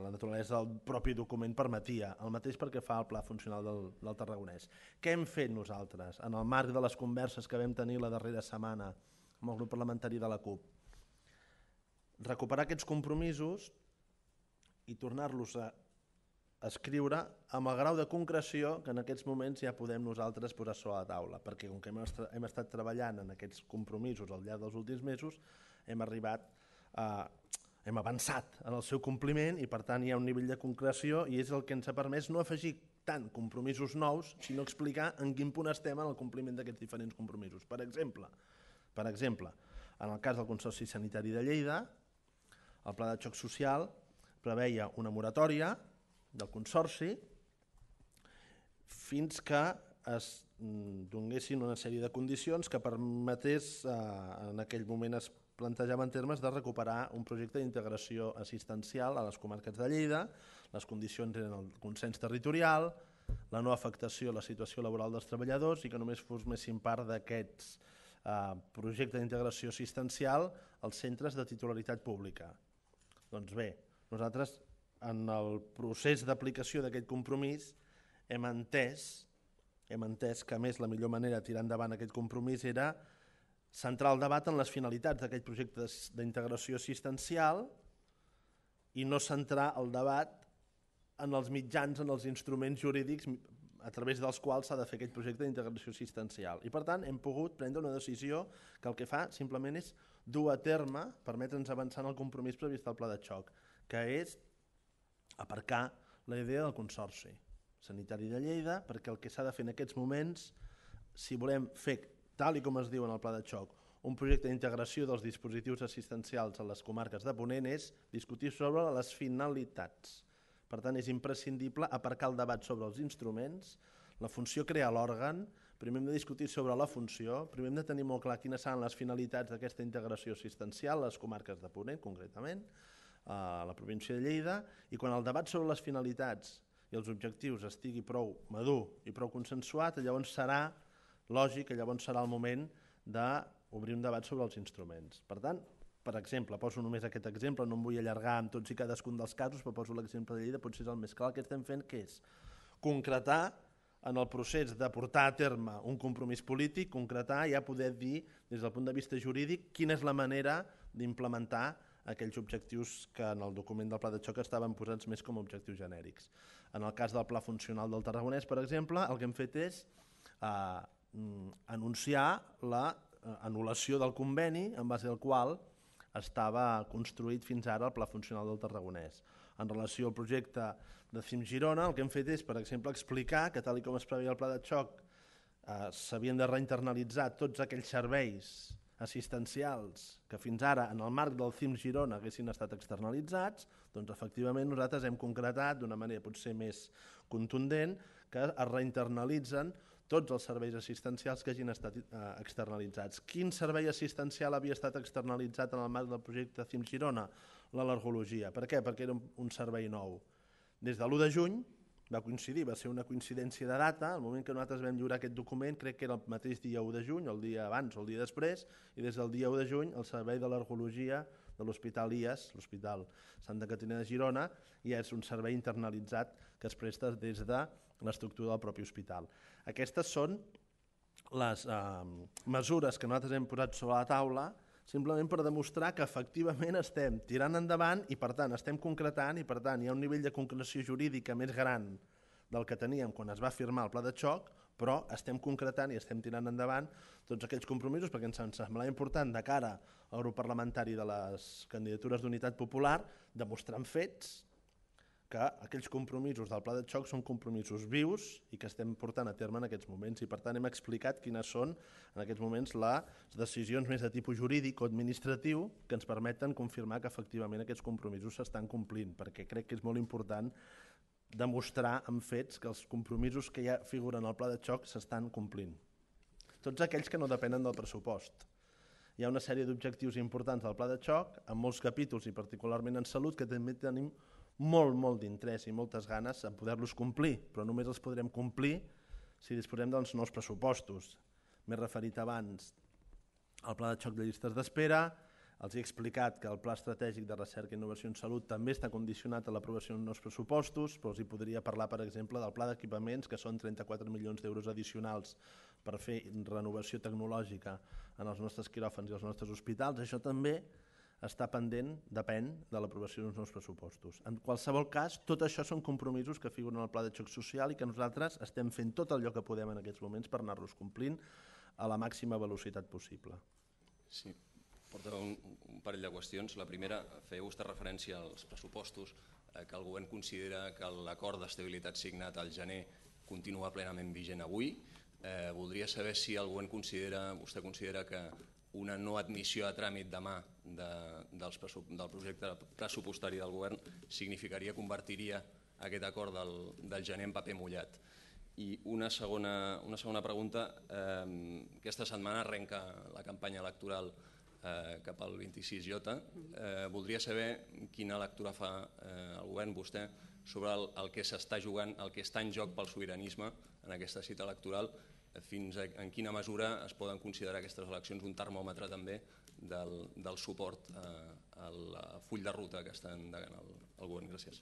naturalesa del propi document permetia. El mateix perquè fa el pla funcional del Tarragonès. Què hem fet nosaltres en el marc de les converses que vam tenir la darrera setmana amb el grup parlamentari de la CUP? Recuperar aquests compromisos i tornar-los a escriure amb el grau de concreció que en aquests moments ja podem nosaltres posar sobre la taula, perquè com que hem estat treballant en aquests compromisos al llarg dels últims mesos, hem avançat en el seu compliment i per tant hi ha un nivell de concreció i és el que ens ha permès no afegir tant compromisos nous, sinó explicar en quin punt estem en el compliment d'aquests diferents compromisos. Per exemple, en el cas del Consorci Sanitari de Lleida, el pla de xoc social preveia una moratòria del Consorci fins que es donguessin una sèrie de condicions que permetés, en aquell moment es plantejava en termes de recuperar un projecte d'integració assistencial a les comarques de Lleida. Les condicions eren el consens territorial, la no afectació a la situació laboral dels treballadors i que només formessin part d'aquests projecte d'integració assistencial als centres de titularitat pública. Doncs bé, nosaltres en el procés d'aplicació d'aquest compromís hem entès que a més la millor manera de tirar endavant aquest compromís era centrar el debat en les finalitats d'aquest projecte d'integració assistencial i no centrar el debat en els mitjans, en els instruments jurídics a través dels quals s'ha de fer aquest projecte d'integració assistencial. I per tant hem pogut prendre una decisió que el que fa simplement és dur a terme, permetre'ns avançar en el compromís previst al pla de xoc, que és aparcar la idea del Consorci Sanitari de Lleida, perquè el que s'ha de fer en aquests moments, si volem fer tal com es diu en el pla de xoc, un projecte d'integració dels dispositius assistencials a les comarques de Ponent és discutir sobre les finalitats. Per tant, és imprescindible aparcar el debat sobre els instruments, la funció crea l'òrgan, primer hem de discutir sobre la funció, primer hem de tenir molt clar quines seran les finalitats d'aquesta integració assistencial a les comarques de Ponent, concretament, a la província de Lleida, i quan el debat sobre les finalitats i els objectius estigui prou madur i prou consensuat, llavors serà lògic que llavors serà el moment d'obrir un debat sobre els instruments. Per tant, per exemple, poso només aquest exemple, no em vull allargar amb tots i cadascun dels casos, però poso l'exemple de Lleida, potser és el més clar. El que estem fent que és concretar en el procés de portar a terme un compromís polític, concretar i ja poder dir des del punt de vista jurídic quina és la manera d'implementar aquells objectius que en el document del pla de xoc estaven posats més com a objectius genèrics. En el cas del pla funcional del Tarragonès, per exemple, el que hem fet és anunciar l'anul·lació del conveni en base al qual estava construït fins ara el pla funcional del Tarragonès. En relació al projecte de CIM Girona, el que hem fet és, per exemple, explicar que tal com es preveia el pla de xoc s'havien de reinternalitzar tots aquells serveis assistencials que fins ara en el marc del CIMS Girona haguessin estat externalitzats, doncs efectivament nosaltres hem concretat d'una manera potser més contundent que es reinternalitzen tots els serveis assistencials que hagin estat externalitzats. Quin servei assistencial havia estat externalitzat en el marc del projecte CIMS Girona? L'al·lergologia. Per què? Perquè era un servei nou. Des de l'1 de juny va coincidir, va ser una coincidència de data, el moment que nosaltres vam lliurar aquest document crec que era el mateix dia 1 de juny, el dia abans o el dia després, i des del dia 1 de juny el servei d'al·lergologia de l'Hospital IAS, l'Hospital Santa Caterina de Girona, ja és un servei internalitzat que es presta des de l'estructura del propi hospital. Aquestes són les mesures que nosaltres hem posat sobre la taula simplement per demostrar que efectivament estem tirant endavant i per tant estem concretant i per tant hi ha un nivell de concreció jurídica més gran del que teníem quan es va firmar el pla de xoc, però estem concretant i estem tirant endavant tots aquells compromisos perquè ens semblava important de cara al grup parlamentari de les candidatures d'Unitat Popular demostrar amb fets que aquells compromisos del pla de xoc són compromisos vius i que estem portant a terme en aquests moments i per tant hem explicat quines són en aquests moments les decisions més de tipus jurídic o administratiu que ens permeten confirmar que efectivament aquests compromisos s'estan complint perquè crec que és molt important demostrar amb fets que els compromisos que ja figuren al pla de xoc s'estan complint. Tots aquells que no depenen del pressupost. Hi ha una sèrie d'objectius importants del pla de xoc, en molts capítols i particularment en salut, que també tenim molt d'interès i moltes ganes en poder-los complir, però només els podrem complir si disposem dels nous pressupostos. M'he referit abans al pla de xoc de llistes d'espera, els he explicat que el pla estratègic de recerca i innovació en salut també està condicionat a l'aprovació de nous pressupostos, però els hi podria parlar, per exemple, del pla d'equipaments, que són 34 milions d'euros addicionals per fer renovació tecnològica en els nostres quiròfans i els nostres hospitals. Això també està pendent, depèn de l'aprovació d'uns nous pressupostos. En qualsevol cas, tot això són compromisos que figuren al pla de xoc social i que nosaltres estem fent tot allò que podem en aquests moments per anar-los complint a la màxima velocitat possible. Sí, porta un parell de qüestions. La primera, feia vostè referència als pressupostos, que el govern considera que l'acord d'estabilitat signat al gener continua plenament vigent avui. Voldria saber si el govern vostè considera que una no admissió a tràmit demà del projecte pressupostari del govern convertiria aquest acord del gener en paper mullat. I una segona pregunta, aquesta setmana arrenca la campanya electoral cap al 26J. Voldria saber quina lectura fa el govern, vostè, sobre el que s'està jugant, el que està en joc pel sobiranisme en aquesta cita electoral, fins en quina mesura es poden considerar aquestes eleccions un termòmetre també del suport al full de ruta que està endegant el govern. Gràcies.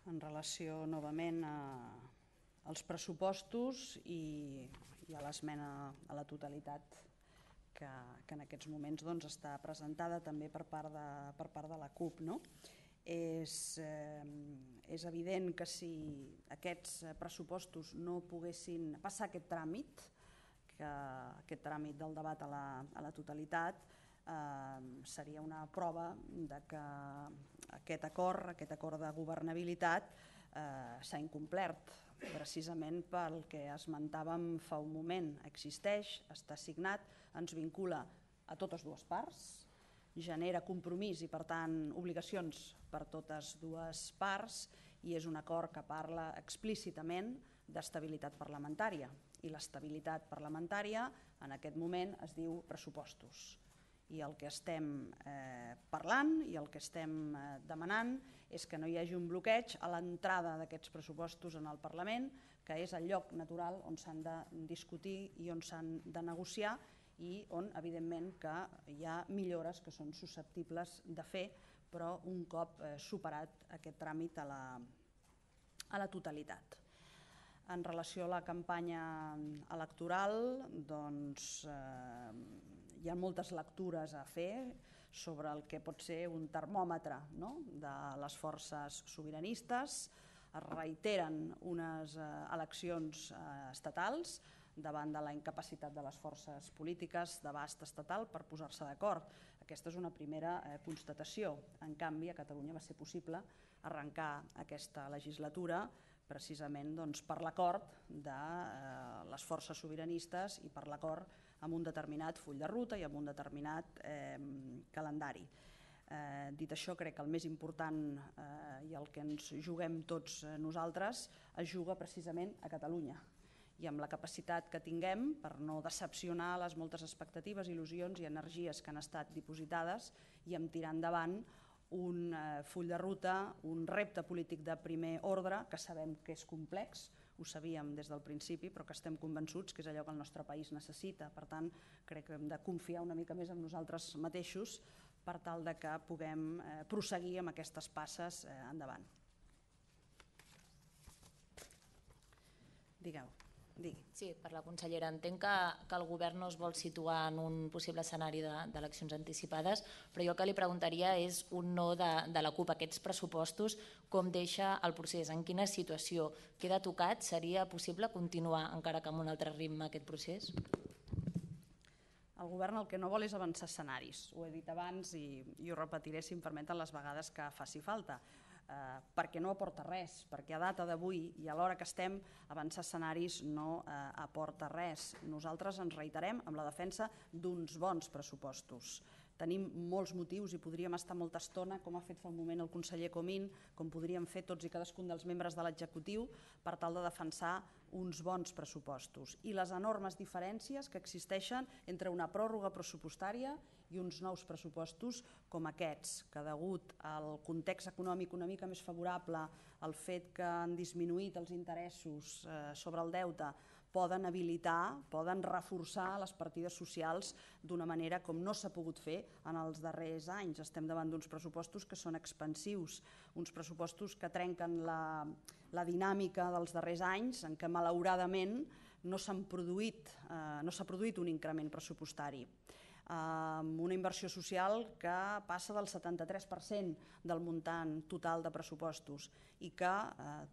En relació novament als pressupostos i a l'esmena a la totalitat que en aquests moments està presentada també per part de la CUP. És evident que si aquests pressupostos no poguessin passar aquest tràmit del debat a la totalitat, seria una prova que aquest acord de governabilitat s'ha incomplert, precisament pel que esmentàvem fa un moment. Existeix, està signat, ens vincula a totes dues parts, genera compromís i per tant obligacions per totes dues parts i és un acord que parla explícitament d'estabilitat parlamentària i l'estabilitat parlamentària en aquest moment es diu pressupostos i el que estem parlant i el que estem demanant és que no hi hagi un bloqueig a l'entrada d'aquests pressupostos en el Parlament, que és el lloc natural on s'han de discutir i on s'han de negociar i on, evidentment, que hi ha millores que són susceptibles de fer, però un cop superat aquest tràmit a la totalitat. En relació a la campanya electoral, doncs hi ha moltes lectures a fer sobre el que pot ser un termòmetre de les forces sobiranistes. Es reiteren unes eleccions estatals davant de la incapacitat de les forces polítiques d'abast estatal per posar-se d'acord. Aquesta és una primera constatació. En canvi, a Catalunya va ser possible arrencar aquesta legislatura precisament per l'acord de les forces sobiranistes i per l'acord amb un determinat full de ruta i amb un determinat calendari. Dit això, crec que el més important i el que ens juguem tots nosaltres es juga precisament a Catalunya i amb la capacitat que tinguem per no decepcionar les moltes expectatives, il·lusions i energies que han estat dipositades i amb tirar endavant un full de ruta, un repte polític de primer ordre que sabem que és complex, ho sabíem des del principi, però que estem convençuts que és allò que el nostre país necessita. Per tant, crec que hem de confiar una mica més en nosaltres mateixos per tal de que puguem prosseguir amb aquestes passes endavant. Digueu. Digui. Sí, per la consellera. Entenc que el govern no es vol situar en un possible escenari d'eleccions anticipades, però jo el que li preguntaria és un no de la CUP a aquests pressupostos, com deixa el procés, en quina situació queda tocat, seria possible continuar encara que amb un altre ritme aquest procés? El govern el que no vol és avançar escenaris, ho he dit abans i ho repetiré si em permeten les vegades que faci falta. Perquè no aporta res, perquè a data d'avui i a l'hora que estem avançar escenaris no aporta res. Nosaltres ens reiterem amb la defensa d'uns bons pressupostos. Tenim molts motius i podríem estar molta estona, com ha fet fa un moment el conseller Comín, com podríem fer tots i cadascun dels membres de l'executiu per tal de defensar uns bons pressupostos i les enormes diferències que existeixen entre una pròrroga pressupostària i uns nous pressupostos com aquests, que degut al context econòmic una mica més favorable, al fet que han disminuït els interessos sobre el deute, poden habilitar, poden reforçar les partides socials d'una manera com no s'ha pogut fer en els darrers anys. Estem davant d'uns pressupostos que són expansius, uns pressupostos que trenquen la dinàmica dels darrers anys en què malauradament no s'ha produït un increment pressupostari. Una inversió social que passa del 73% del muntant total de pressupostos i que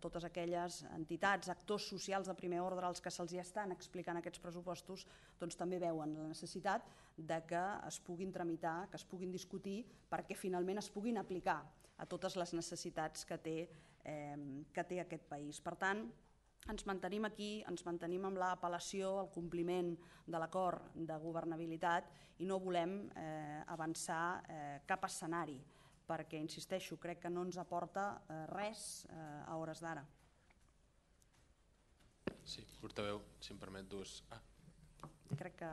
totes aquelles entitats, actors socials de primer ordre als que se'ls estan explicant aquests pressupostos doncs també veuen la necessitat de que es puguin tramitar, que es puguin discutir perquè finalment es puguin aplicar a totes les necessitats que té aquest país. Per tant, ens mantenim aquí, ens mantenim amb l'apel·lació al compliment de l'acord de governabilitat i no volem avançar cap escenari perquè, insisteixo, crec que no ens aporta res a hores d'ara. Sí, portaveu, si em permet dues... Crec que...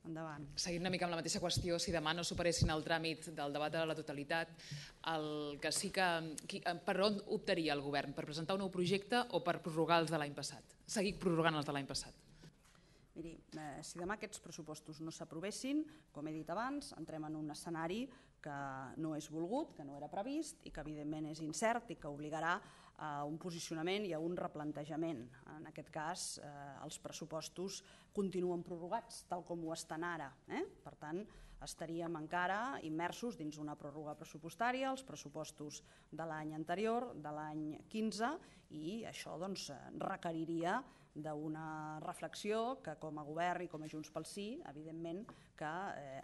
Endavant. Seguint una mica amb la mateixa qüestió, si demà no superessin el tràmit del debat a la totalitat, el que sí que... Per on optaria el govern? Per presentar un nou projecte o per prorrogar els de l'any passat? Seguir prorrogant els de l'any passat? Miri, si demà aquests pressupostos no s'aprovessin, com he dit abans, entrem en un escenari que no és volgut, que no era previst i que evidentment és incert i que obligarà a un posicionament i a un replantejament. En aquest cas, els pressupostos continuen prorrogats, tal com ho estan ara. Per tant, estaríem encara immersos dins una pròrroga pressupostària, els pressupostos de l'any anterior, de l'any 15, i això requeriria d'una reflexió que com a govern i com a Junts pel Sí, evidentment que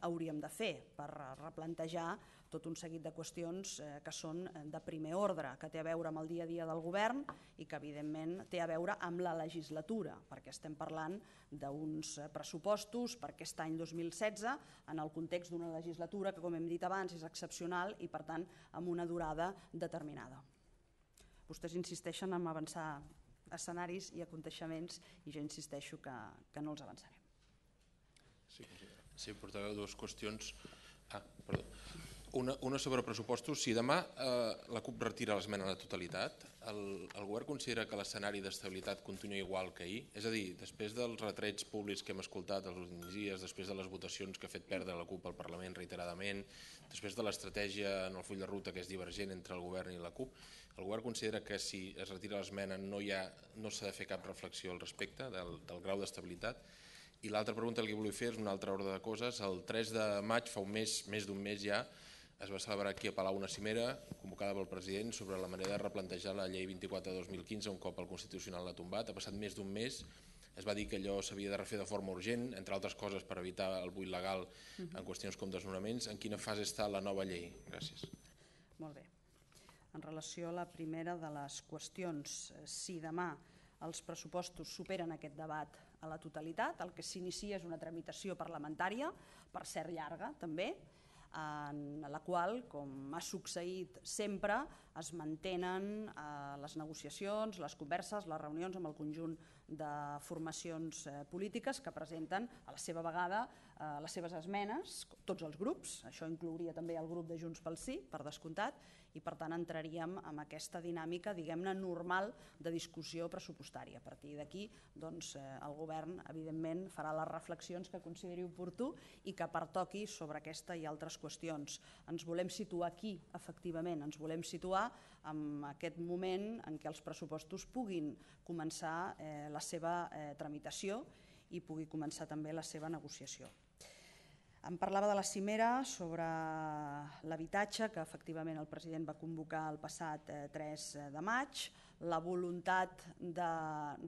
hauríem de fer per replantejar tot un seguit de qüestions que són de primer ordre, que té a veure amb el dia a dia del govern i que evidentment té a veure amb la legislatura, perquè estem parlant d'uns pressupostos per aquest any 2016 en el context d'una legislatura que, com hem dit abans, és excepcional i per tant amb una durada determinada. Vostès insisteixen en avançar escenaris i aconteixements i jo insisteixo que no els avançarem. Sí, portaveu, dues qüestions. Perdó. Una sobre pressupostos. Si demà la CUP retira l'esmena a la totalitat, el govern considera que l'escenari d'estabilitat continua igual que ahir? És a dir, després dels retrets públics que hem escoltat els últims dies, després de les votacions que ha fet perdre la CUP al Parlament reiteradament, després de l'estratègia en el full de ruta que és divergent entre el govern i la CUP, el govern considera que si es retira l'esmena no s'ha de fer cap reflexió al respecte del grau d'estabilitat? I l'altra pregunta que li volia fer és una altra ordre de coses. El 3 de maig, fa més d'un mes ja, es va celebrar aquí a Palau una cimera convocada pel president sobre la manera de replantejar la llei 24 de 2015 un cop el Constitucional l'ha tombat. Ha passat més d'un mes, es va dir que allò s'havia de refer de forma urgent, entre altres coses per evitar el buit legal en qüestions com desnonaments. En quina fase està la nova llei? Gràcies. Molt bé. En relació a la primera de les qüestions, si demà els pressupostos superen aquest debat a la totalitat, el que s'inicia és una tramitació parlamentària, per cert llarga també, en la qual, com ha succeït sempre, es mantenen les negociacions, les converses, les reunions amb el conjunt de formacions polítiques que presenten a la seva vegada les seves esmenes, tots els grups, això inclouria també el grup de Junts pel Sí, per descomptat, i per tant entraríem en aquesta dinàmica, diguem-ne, normal de discussió pressupostària. A partir d'aquí, el govern, evidentment, farà les reflexions que consideri oportú i que pertoqui sobre aquesta i altres qüestions. Ens volem situar aquí, efectivament, ens volem situar en aquest moment en què els pressupostos puguin començar la seva tramitació i pugui començar també la seva negociació. Em parlava de la cimera sobre l'habitatge, que efectivament el president va convocar el passat 3 de maig. La voluntat de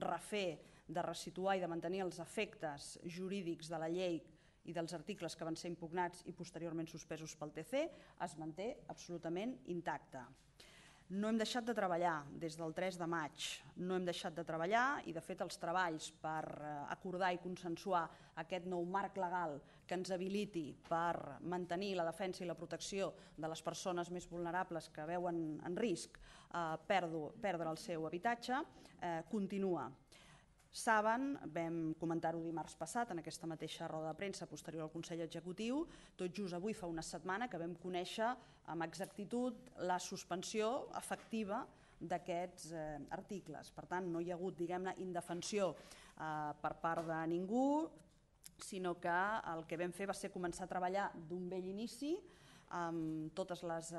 refer, de resituar i de mantenir els efectes jurídics de la llei i dels articles que van ser impugnats i posteriorment suspesos pel TC es manté absolutament intacta. No hem deixat de treballar des del 3 de maig, no hem deixat de treballar i de fet els treballs per acordar i consensuar aquest nou marc legal que ens habiliti per mantenir la defensa i la protecció de les persones més vulnerables que veuen en risc perdre el seu habitatge continua. Saben, vam comentar-ho dimarts passat en aquesta mateixa roda de premsa posterior al Consell Executiu, tot just avui fa una setmana que vam conèixer amb exactitud la suspensió efectiva d'aquests articles. Per tant, no hi ha hagut, diguem-ne, indefensió per part de ningú, sinó que el que vam fer va ser començar a treballar d'un vell inici amb totes les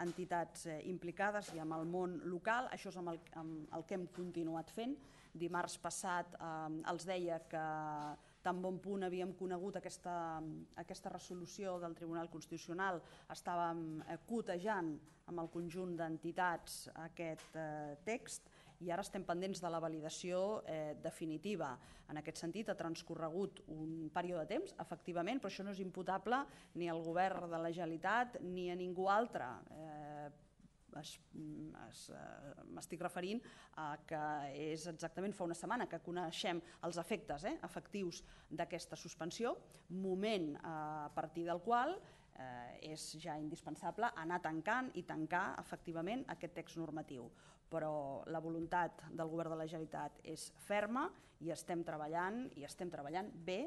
entitats implicades i amb el món local. Això és amb el que hem continuat fent. Dimarts passat els deia que tan bon punt havíem conegut aquesta resolució del Tribunal Constitucional, estàvem cotejant amb el conjunt d'entitats aquest text i ara estem pendents de la validació definitiva. En aquest sentit, ha transcorregut un període de temps, efectivament, però això no és imputable ni al govern de la Generalitat ni a ningú altre. M'estic referint a que és exactament fa una setmana que coneixem els efectes efectius d'aquesta suspensió, moment a partir del qual és ja indispensable anar tancant i tancar efectivament aquest text normatiu. Però la voluntat del govern de la Generalitat és ferma i estem treballant bé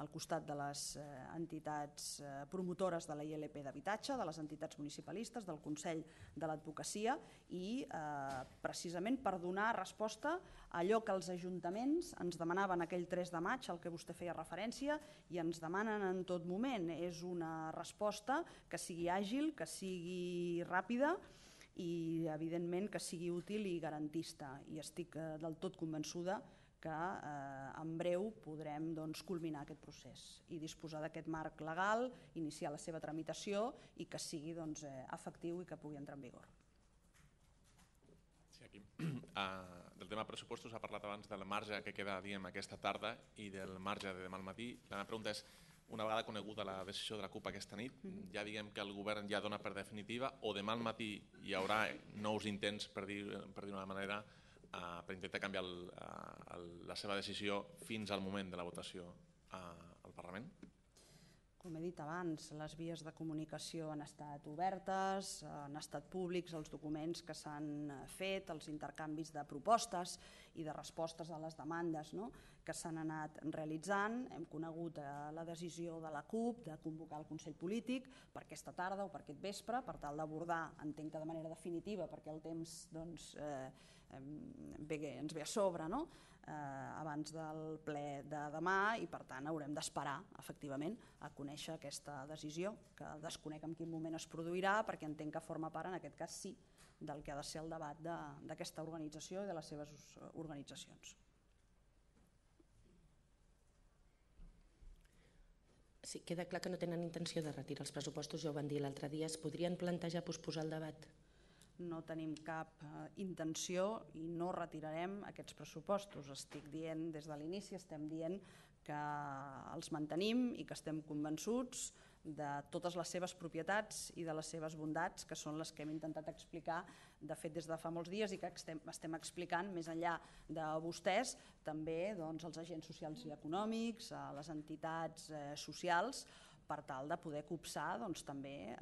al costat de les entitats promotores de la ILP d'habitatge, de les entitats municipalistes, del Consell de l'Advocacia i precisament per donar resposta a allò que els ajuntaments ens demanaven aquell 3 de maig, al que vostè feia referència, i ens demanen en tot moment. És una resposta que sigui àgil, que sigui ràpida i evidentment que sigui útil i garantista. I estic del tot convençuda que en breu podrem culminar aquest procés i disposar d'aquest marc legal, iniciar la seva tramitació i que sigui efectiu i que pugui entrar en vigor. Sí, aquí. Del tema pressupostos ha parlat abans del marge que queda aquesta tarda i del marge de demà al matí. La meva pregunta és, una vegada coneguda la decisió de la CUP aquesta nit, ja diguem que el govern ja dona per definitiva o demà al matí hi haurà nous intents, per dir-ho d'una manera, per intentar canviar la seva decisió fins al moment de la votació al Parlament? Com he dit abans, les vies de comunicació han estat obertes, han estat públics els documents que s'han fet, els intercanvis de propostes i de respostes a les demandes que s'han anat realitzant. Hem conegut la decisió de la CUP de convocar el Consell Polític per aquesta tarda o per aquest vespre, per tal d'abordar, entenc que de manera definitiva, perquè el temps ens ve a sobre abans del ple de demà i per tant haurem d'esperar efectivament a conèixer aquesta decisió, que desconec en quin moment es produirà perquè entenc que forma part, en aquest cas sí, del que ha de ser el debat d'aquesta organització i de les seves organitzacions. Sí, queda clar que no tenen intenció de retirar els pressupostos, ja ho van dir l'altre dia. Es podrien plantejar posposar el debat? No tenim cap intenció i no retirarem aquests pressupostos. Estic dient des de l'inici, estem dient que els mantenim i que estem convençuts de totes les seves propietats i de les seves bondats, que són les que hem intentat explicar, de fet, des de fa molts dies i que estem explicant més enllà de vostès, també als agents socials i econòmics, a les entitats socials, per tal de poder copsar també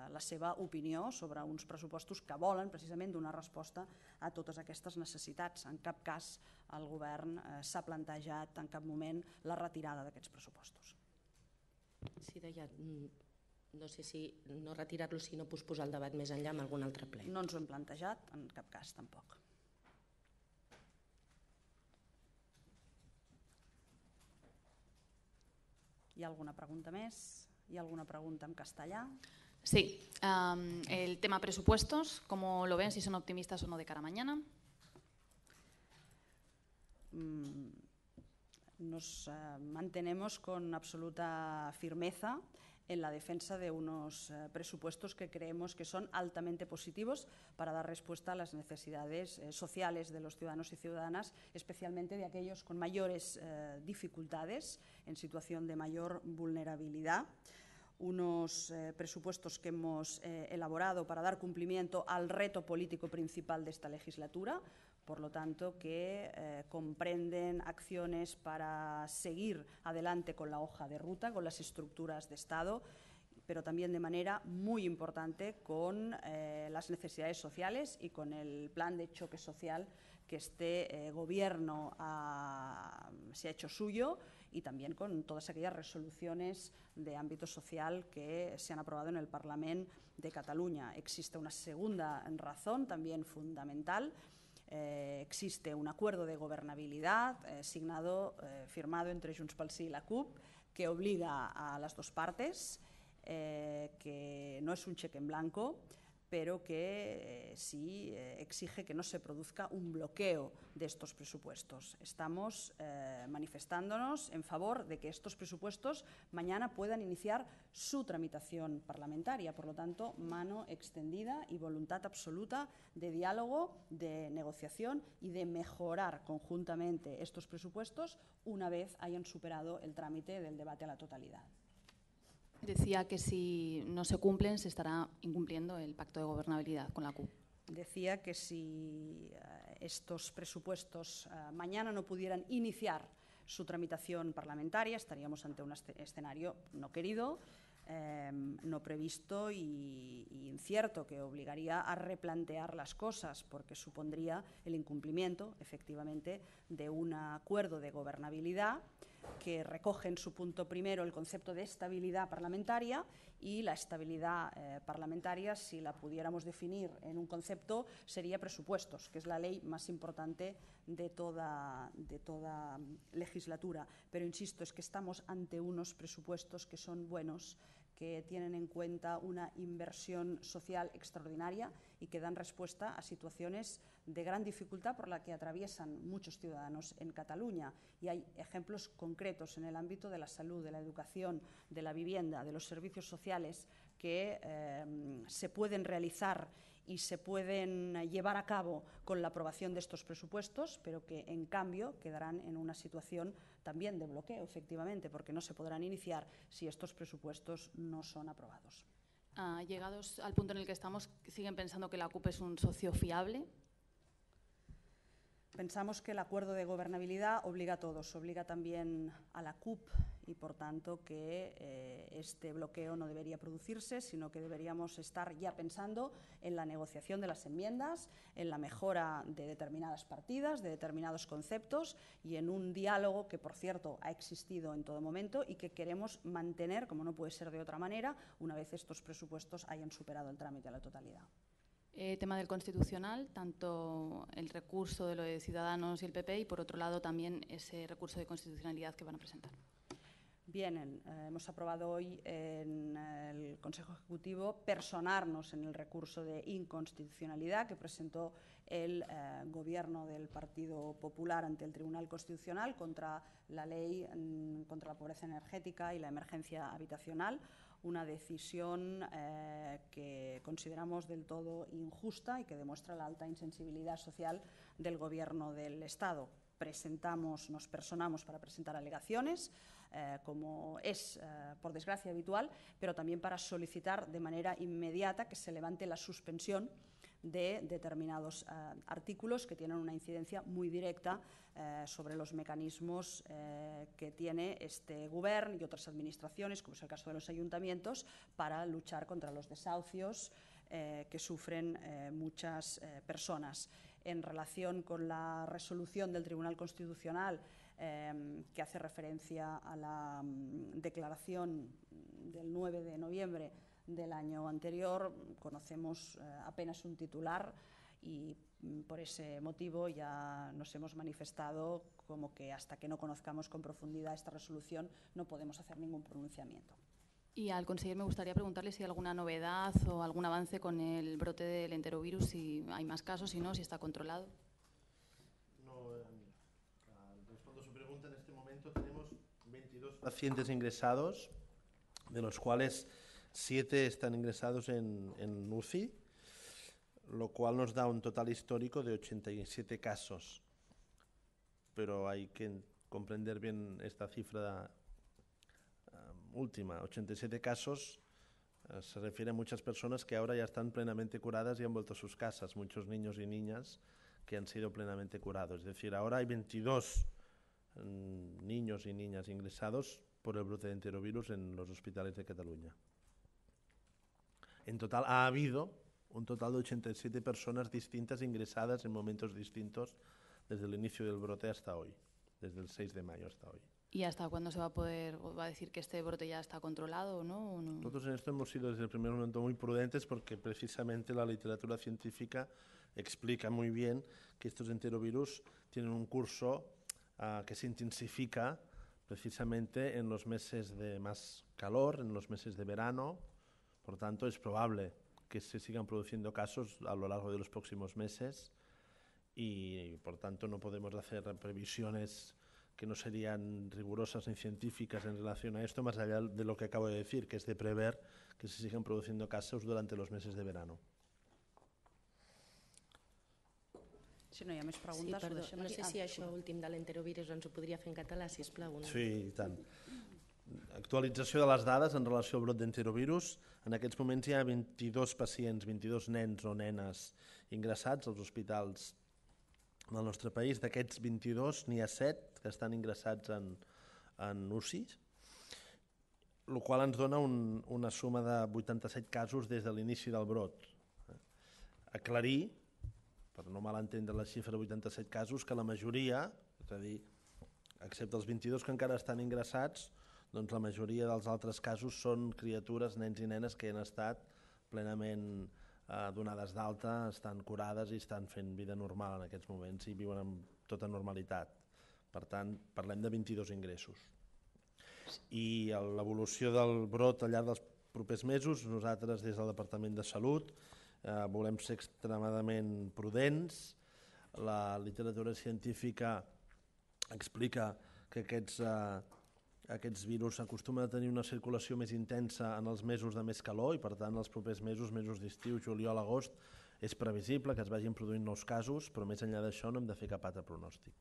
la seva opinió sobre uns pressupostos que volen precisament donar resposta a totes aquestes necessitats. En cap cas el govern s'ha plantejat en cap moment la retirada d'aquests pressupostos. Sí, deia, no sé si no retirar-lo, sinó posposar el debat més enllà amb algun altre ple. No ens ho hem plantejat, en cap cas tampoc. ¿Hi ha alguna pregunta més? ¿Hi ha alguna pregunta en castellà? Sí, el tema presupuestos, ¿cómo lo ven? Si son optimistas o no de cara a mañana. Nos mantenemos con absoluta firmeza en la defensa de unos presupuestos que creemos que son altamente positivos para dar respuesta a las necesidades sociales de los ciudadanos y ciudadanas, especialmente de aquellos con mayores dificultades, en situación de mayor vulnerabilidad. Unos presupuestos que hemos elaborado para dar cumplimiento al reto político principal de esta legislatura, por lo tanto que comprenden acciones para seguir adelante con la hoja de ruta, con las estructuras de Estado, pero también de manera muy importante con las necesidades sociales y con el plan de choque social que este gobierno se ha hecho suyo, y también con todas aquellas resoluciones de ámbito social que se han aprobado en el Parlament de Cataluña. Existe una segunda razón también fundamental. Existe un acuerdo de gobernabilidad firmado entre Junts pel Sí y la CUP, que obliga a las dos partes, que no es un cheque en blanco, pero que sí exige que no se produzca un bloqueo de estos presupuestos. Estamos manifestándonos en favor de que estos presupuestos mañana puedan iniciar su tramitación parlamentaria. Por lo tanto, mano extendida y voluntad absoluta de diálogo, de negociación y de mejorar conjuntamente estos presupuestos una vez hayan superado el trámite del debate a la totalidad. Decía que si no se cumplen se estará incumpliendo el pacto de gobernabilidad con la CUP. Decía que si estos presupuestos mañana no pudieran iniciar su tramitación parlamentaria, estaríamos ante un escenario no querido, no previsto y incierto, que obligaría a replantear las cosas, porque supondría el incumplimiento, efectivamente, de un acuerdo de gobernabilidad que recoge en su punto primero el concepto de estabilidad parlamentaria, y la estabilidad parlamentaria, si la pudiéramos definir en un concepto, sería presupuestos, que es la ley más importante de toda legislatura. Pero insisto, es que estamos ante unos presupuestos que son buenos, que tienen en cuenta una inversión social extraordinaria y que dan respuesta a situaciones de gran dificultad por la que atraviesan muchos ciudadanos en Cataluña. Y hay ejemplos concretos en el ámbito de la salud, de la educación, de la vivienda, de los servicios sociales que se pueden realizar y se pueden llevar a cabo con la aprobación de estos presupuestos, pero que en cambio quedarán en una situación también de bloqueo, efectivamente, porque no se podrán iniciar si estos presupuestos no son aprobados. Llegados al punto en el que estamos, ¿siguen pensando que la CUP es un socio fiable? Pensamos que el acuerdo de gobernabilidad obliga a todos, obliga también a la CUP, y por tanto que este bloqueo no debería producirse, sino que deberíamos estar ya pensando en la negociación de las enmiendas, en la mejora de determinadas partidas, de determinados conceptos, y en un diálogo que, por cierto, ha existido en todo momento y que queremos mantener, como no puede ser de otra manera, una vez estos presupuestos hayan superado el trámite a la totalidad. Tema del Constitucional, tanto el recurso de lo de Ciudadanos y el PP, y por otro lado también ese recurso de constitucionalidad que van a presentar. Bien, hemos aprobado hoy en el Consejo Ejecutivo personarnos en el recurso de inconstitucionalidad que presentó el Gobierno del Partido Popular ante el Tribunal Constitucional contra la ley contra la pobreza energética y la emergencia habitacional, una decisión que consideramos del todo injusta y que demuestra la alta insensibilidad social del Gobierno del Estado. Nos personamos para presentar alegaciones, como es, por desgracia, habitual, pero también para solicitar de manera inmediata que se levante la suspensión de determinados artículos que tienen una incidencia muy directa sobre los mecanismos que tiene este Govern y otras administraciones, como es el caso de los ayuntamientos, para luchar contra los desahucios que sufren muchas personas. En relación con la resolución del Tribunal Constitucional que hace referencia a la declaración del 9 de noviembre del año anterior, conocemos apenas un titular y por ese motivo ya nos hemos manifestado como que hasta que no conozcamos con profundidad esta resolución no podemos hacer ningún pronunciamiento. Y al conseller me gustaría preguntarle si hay alguna novedad o algún avance con el brote del enterovirus, si hay más casos, si no, si está controlado. No, respondo a su pregunta. En este momento tenemos 22 pacientes ingresados, de los cuales 7 están ingresados en UCI, lo cual nos da un total histórico de 87 casos. Pero hay que comprender bien esta cifra última. 87 casos se refiere a muchas personas que ahora ya están plenamente curadas y han vuelto a sus casas, muchos niños y niñas que han sido plenamente curados. Es decir, ahora hay 22 niños y niñas ingresados por el brote de enterovirus en los hospitales de Cataluña. En total ha habido un total de 87 personas distintas ingresadas en momentos distintos desde el inicio del brote hasta hoy, desde el 6 de mayo hasta hoy. ¿Y hasta cuándo se va a decir que este brote ya está controlado o no? Nosotros en esto hemos sido desde el primer momento muy prudentes porque precisamente la literatura científica explica muy bien que estos enterovirus tienen un curso que se intensifica precisamente en los meses de más calor, en los meses de verano. Por tanto, es probable que se sigan produciendo casos a lo largo de los próximos meses y, por tanto, no podemos hacer previsiones que no serían rigurosas ni científicas en relación a esto, más allá de lo que acabo de decir, que es de prever que se sigan produciendo casos durante los meses de verano. Si no hi ha més preguntes... Sí, perdó, no sé si això últim de l'enterovirus ens ho podria fer en català, sisplau. No? Sí, i tant. Actualització de les dades en relació al brot d'enterovirus. En aquests moments hi ha 22 pacients, 22 nens o nenes ingressats als hospitals del nostre país. D'aquests 22 n'hi ha 7 que estan ingressats en UCI, el qual ens dona una suma de 87 casos des de l'inici del brot. Aclarir, per no malentendre la xifra de 87 casos, que la majoria, és a dir, excepte els 22 que encara estan ingressats, doncs la majoria dels altres casos són criatures, nens i nenes que han estat plenament donades d'alta, estan curades i estan fent vida normal en aquests moments i viuen amb tota normalitat. Per tant, parlem de 22 ingressos. I l'evolució del brot al llarg dels propers mesos, nosaltres des del Departament de Salut volem ser extremadament prudents. La literatura científica explica que aquests virus acostumen a tenir una circulació més intensa en els mesos de més calor i per tant els propers mesos, mesos d'estiu, juliol, agost, és previsible que es vagin produint nous casos, però més enllà d'això no hem de fer cap altre pronòstic.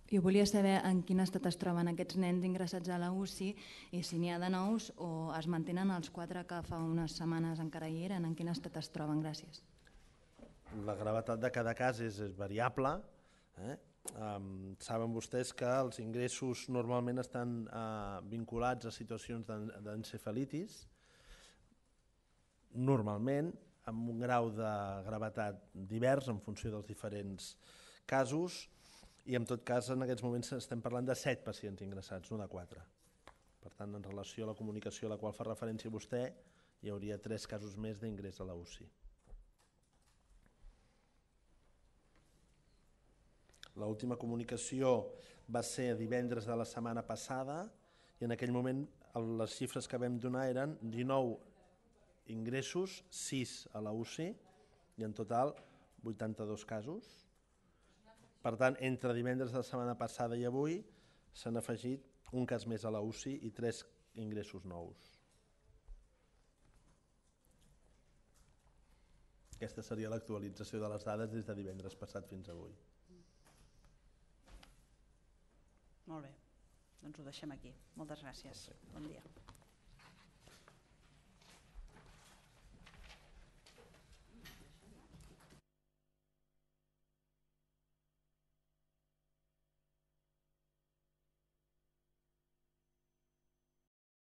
Jo volia saber en quin estat es troben aquests nens ingressats a la UCI i si n'hi ha de nous o es mantenen els 4 que fa unes setmanes encara hi eren, en quin estat es troben? Gràcies. La gravetat de cada cas és variable. Saben vostès que els ingressos normalment estan vinculats a situacions d'encefalitis, normalment amb un grau de gravetat divers en funció dels diferents casos, i en tot cas en aquests moments estem parlant de 7 pacients ingressats, no de 4. Per tant, en relació a la comunicació a la qual fa referència vostè, hi hauria 3 casos més d'ingrés a la UCI. L'última comunicació va ser divendres de la setmana passada i en aquell moment les xifres que vam donar eren 19 ingressos, 6 a la UCI i en total 82 casos. Per tant, entre divendres de la setmana passada i avui s'han afegit un cas més a la UCI i 3 ingressos nous. Aquesta seria l'actualització de les dades des de divendres passat fins avui. Molt bé. Doncs ho deixem aquí. Moltes gràcies. Bon dia.